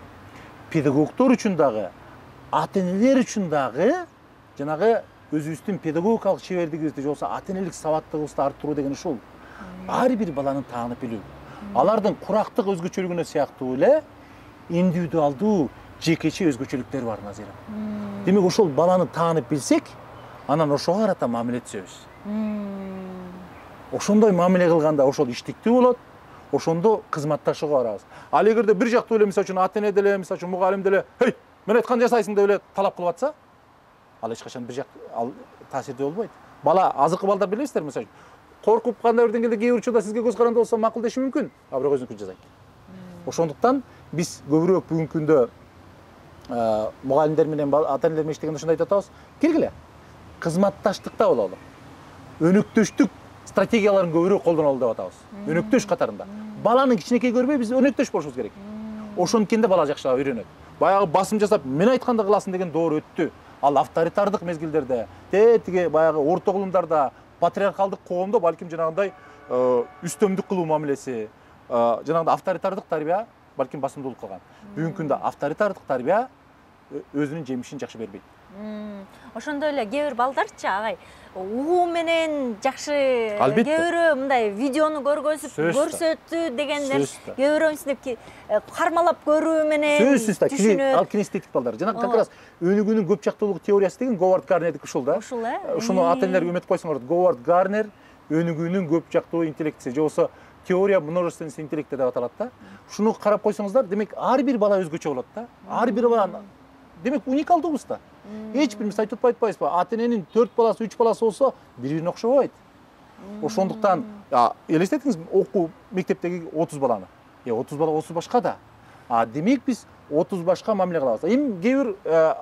педагогдор үчүн дагы, ата-энелер үчүн дагы жанагы өзүбүздүн педагогикалык чебердигибизди, же болбосо ата-энелик сабаттуулугубузду арттыруу деген ушул. Ар бир баланы таанып билүү. Алардын курактык өзгөчөлүгүнө сыяктуу эле индивидуалдуу, жекече өзгөчөлүктөр бар, Назира. Демек, ошол баланы таанып билсек, анан ошого карата мамиле түзөбүз. Ошондой мамиле кылганда ошол иштиктүү болот, ошондо кызматташууга барабыз. Ал эгерде бир жактуу эле, мисалы үчүн, ата-эне деле, мисалы үчүн, мугалим деле, "Хей, мен айтканды жасайсың" деп эле талап кылып атса, ал эч качан бир жактуу таасирдүү болбойт. Бала, азыркы балдар билесиздер, мисалы үчүн, коркуп кандай бир деңгээлде кээ бир учурда сизге көз каранды болсо макулдеши мүмкүн, а бирок өзүнүкүн жасайт. Ошондуктан биз көбүрөөк бүгүнкү күндө мугалимдер менен ата-энелер менен иштегенде ушундай айтып атабыз. Келгиле, кызматташтыкта бололу. Өнөктөштүк стратегияларын көбүрөөк колдонолу деп атабыз. Өнөктөш катарында. Баланы кичинекей көрбөй, биз өнөктөш болушубуз керек. Ошонткенде бала жакшы үйрөнөт. Баягы басым жасап, мен айтканды кыласың деген доор өттү. Ал авторитардык мезгилдерде, тиги баягы орто кылымдарда, патриархалдык коомдо балким жанагындай үстөмдүк кылуу мамилеси, жанагындай авторитардык тарбия балким басымдуулук кылган. Бүгүнкү күндө авторитардык тарбия өзүнүн жемишин жакшы бербейт. Ошондой эле кээ бир балдарчы агай угуу менен жакшы кээ бирөө мындай видеону көрсөтүү деген нерсе кээ бирөө мисиндеп кармалап көрүү менен түшүнөт. Ал кинестетик балдар. Жана как раз өнүгүүнүн көп жактуулук теориясы деген Говард Гарнердики ушул да. Ушул Ушуну ата-энелер үмүт койсоңор, Говард Гарнер өнүгүүнүн көп жактуу интеллекти, же болбосо теория множественности интеллекта деп аталат да. Ушуну карап койсоңуздар, демек ар бир бала өзгөчө болот да. Ар бир бала демек уникалдуубуз да. Эч бир айтып атпайбызбы, ата-эненин 4 баласы, 3 баласы болсо, бири-бирине окшобойт. Ошондуктан элестетиңиз, окуу мектептеги 30 баланы. 30 бала 30 башка да. Демек биз 30 башка мамиле кылабыз. Эми кээ бир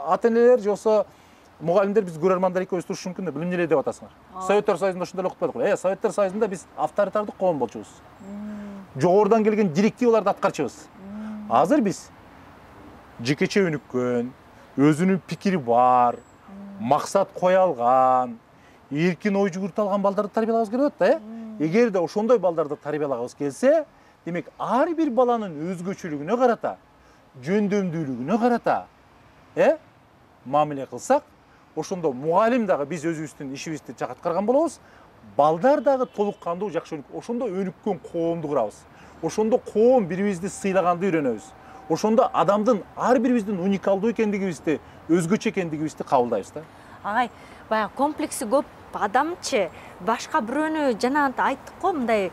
ата-энелер же болсо мугалимдер биз көрөрмандар экөөбүз турушубуз мүмкүн да, эмне эле деп атасыңар. Советтер Союзунда ушундай эле окутпадык. Советтер Союзунда биз авторитардык коом болчубуз. Жогорудан келген директиваларды аткарчыбыз. Азыр биз жекече өнүккөн, өзүнүн пикири бар, максат кое алган, эркин ой жүгүртө алган балдарды тарбиялабыз келип атат да. Эгерде ошондой балдарды тарбиялагыбыз келсе, демек ар бир баланын өзгөчөлүгүнө карата жөндөмдүүлүгүнө карата мамиле кылсак, ошондо мугалим дагы биз өзүбүздүн ишибизди жак аткарган болобуз, балдар дагы толук кандуу жакшы ошондо өнүккөн коомду курабыз. Ошондо коом бири-бирибизди сыйлаганды үйрөнөбүз. Ошондо адамдын ар бирибиздин уникалдуу экендигибизди, өзгөчө экендигибизди кабылдайбыз да. Агай, баягы комплекси көп адамчы башка бирөөнү жанагынтип айттык го, мындай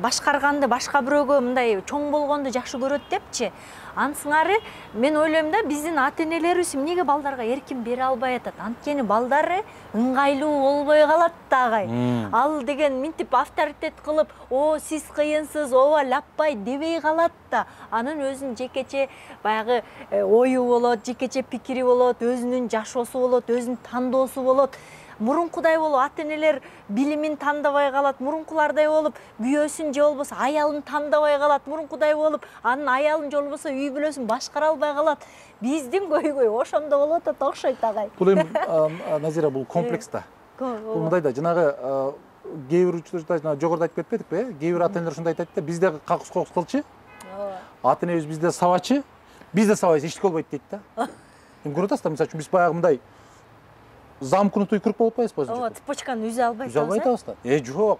башкарганды, башка бирөөгө мындай чоң болгонду жакшы көрөт депчи. Ансыңары мен ойлойм да, биздин ата-энелерибиз эмнеге балдарга эркин бере албай атат? Анткени балдары ыңгайлуу болбой калат да агай. Ал деген минтип авторитет кылып, "О, сиз кыйынсыз, ооба лаппай" дебей калат да. Анын өзүнүн жекече баягы ою болот, жекече пикири болот, өзүнүн жашоосу болот, өзүнүн тандоосу болот. Мурункудай болуп ата-энелер билимин тандабай калат, мурункулардай болуп күйөөсүн же болбосо аялын тандабай калат, мурункудай болуп анын аялын же болбосо үй бүлөсүн башкара албай калат. Биздин көйгөй ошондо болуп атат окшойт агай. Бул эми Назира, бул комплекс да. Бул мындай да, жанагы кээ бир учурда жана жогоруда айтып кетпедикпи, кээ бир ата-энелер ушундай айтат да, бизде какус кылчы, ата-энебиз бизде сабачы, бизде сабайбыз, эчтеке болбойт дейт да. Эми көрүп атасыздар, мисалы үчүн биз баягы мындай замкнутый круг болуп атпайбызбы? Ооба, цепочканы үзө албайсыз. Үзө албай атабыз да. Жок.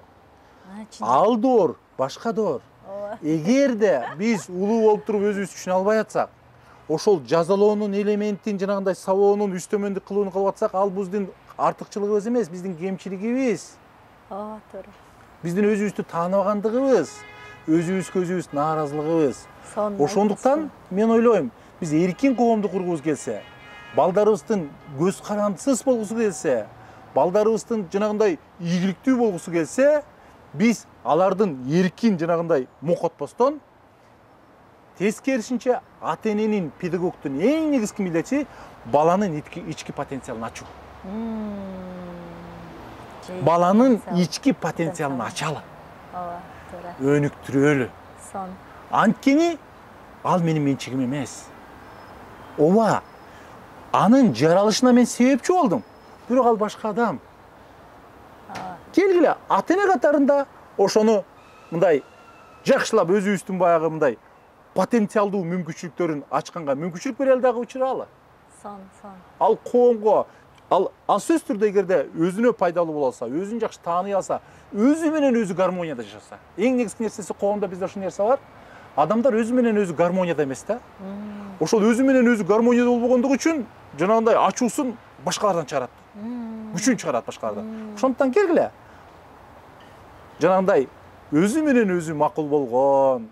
Ал доор, башка доор. Эгерде биз улуу болуп туруп өзүбүз түшүнө албай атсак, ошол жазалоонун элементин, жанагындай сабоонун үстөмөндүк кылууну кылып атсак, ал биздин артыкчылыгыбыз эмес, биздин кемчилигибиз. Ооба, туура. Биздин өзүбүздү тааныбагандыгыбыз, өзүбүзгө өзүбүз нааразылыгыбыз. Ошондуктан мен ойлойм, биз эркин коомду кургубуз келсе, балдарыбыздын көз карандысыз болгусу келсе, балдарыбыздын жанагындай ийгиликтүү болгусу келсе, биз алардын эркин жанагындай мокотпостон, тескерисинче ата-эненин, педагогдун эң негизги милдети баланын ички потенциалын ачуу. Баланын ички потенциалын ачалы. Ооба, туура. Өнүктүрөлү. Сон. Анткени ал менин менчигим эмес. Ооба, анын жаралышына мен себепчи болдум. Бирок ал башка адам. Келгиле, ата-эне катарында ошону мындай жакшылап өзүбүздүн баягы мындай потенциалдуу мүмкүнчүлүктөрүн ачканга мүмкүнчүлүк берели дагы учуралы. Сон. Ал коомго, ал сөзсүз түрдө эгерде өзүнө пайдалуу боло алса, өзүн жакшы тааный алса, өзү менен өзү гармонияда жашаса. Эң негизги нерсеси коомдо бизде ушул нерсе бар. Адамдар өзү менен өзү гармонияда эмес да. Ошол өзү менен өзү гармонияда болбогондугу үчүн жанагындай ачуусун башкалардан чыгарат. Күчүн чыгарат башкалардан. Ошондуктан келгиле. Жанагындай өзү менен өзү макул болгон,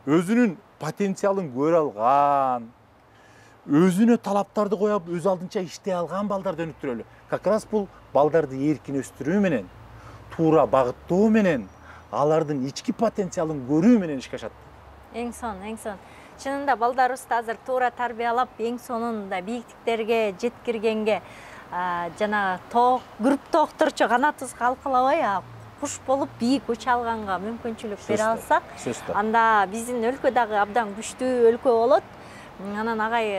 өзүнүн потенциалын көрө алган, өзүнө талаптарды коюп, өз алдынча иштей алган балдарды өнүктүрөлү. Как раз бул балдарды эркин өстүрүү менен, туура багыттоо менен, алардын ички потенциалын көрүү менен ишке ашат. Эң сон. Чынында балдарыбызды азыр туура тарбиялап, эң сонунда бийиктиктерге жеткиргенге жана күрүп токтурчу канатыбыз калкалабай, куш болуп бийик уча алганга мүмкүнчүлүк бере алсак, анда биздин өлкө дагы абдан күчтүү өлкө болот. Анан агай,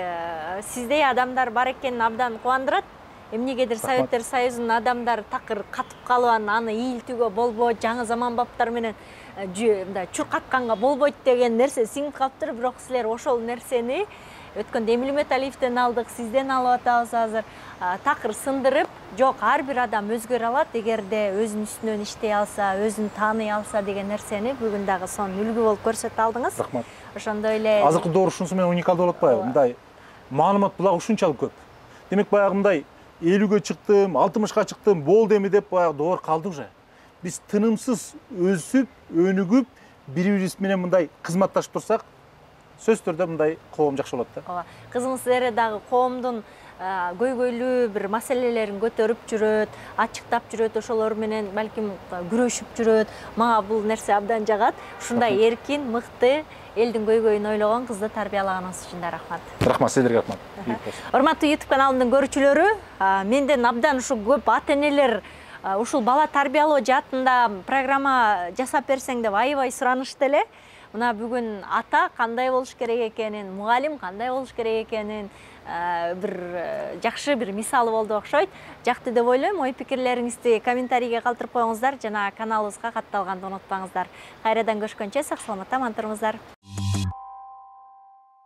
сиздей адамдар бар экенин абдан кубандырат. Эмнегедир Советтер Союзунун адамдары такыр катып калып, аны ийилтүүгө болбойт, жаңы заманбаптар менен чуркатканга болбойт деген нерсе сиңип калыптыр. Бирок силер ошол нерсени өткөндө Эмиль Металиевден алдык, сизден алып атабыз азыр. Такыр сындырып, жок, ар бир адам өзгөрө алат, эгерде өзүнүн үстүнөн иштей алса, өзүн тааный алса деген нерсени бүгүн дагы сон үлгү болуп көрсөтө алдыңыз. Рахмат. Ошондой эле азыркы доор ушунусу менен уникалдуу болуп атпайбы? Мындай маалымат булагы ушунчалык көп. Демек баягы мындай 50-ге чыктым, 60-ка чыктым, болду эми деп баягы доор калды уже. Биз тынымсыз өсүп, өнүгүп, бири-бирибиз менен мындай кызматташып турсак, сөзсүз түрдө мындай коом жакшы болот да. Ооба. Кызыңыз Зере дагы коомдун көйгөйлүү бир маселелерин көтөрүп жүрөт, ачыктап жүрөт, ошолор менен балким күрөшүп жүрөт. Мага бул нерсе абдан жагат. Ушундай эркин, мыкты, элдин көйгөйүн ойлогон кызды тарбиялаганыңыз үчүн да рахмат. Рахмат, сиздерге рахмат. Урматтуу YouTube каналымдын көрүүчүлөрү, менден абдан ушу көп ата-энелер ушул бала тарбиялоо жаатында программа жасап берсең деп аябай суранышты эле. Мына бүгүн ата кандай болуш керек экенин, мугалим кандай болуш керек экенин бир жакшы бир мисалы болду окшойт. Жакты деп ойлойм. Ой пикирлериңизди комментарийге калтырып коюңуздар жана каналыбызга катталганды унутпаңыздар. Кайрадан көрүшкөнчө сак саламатта аман туруңуздар.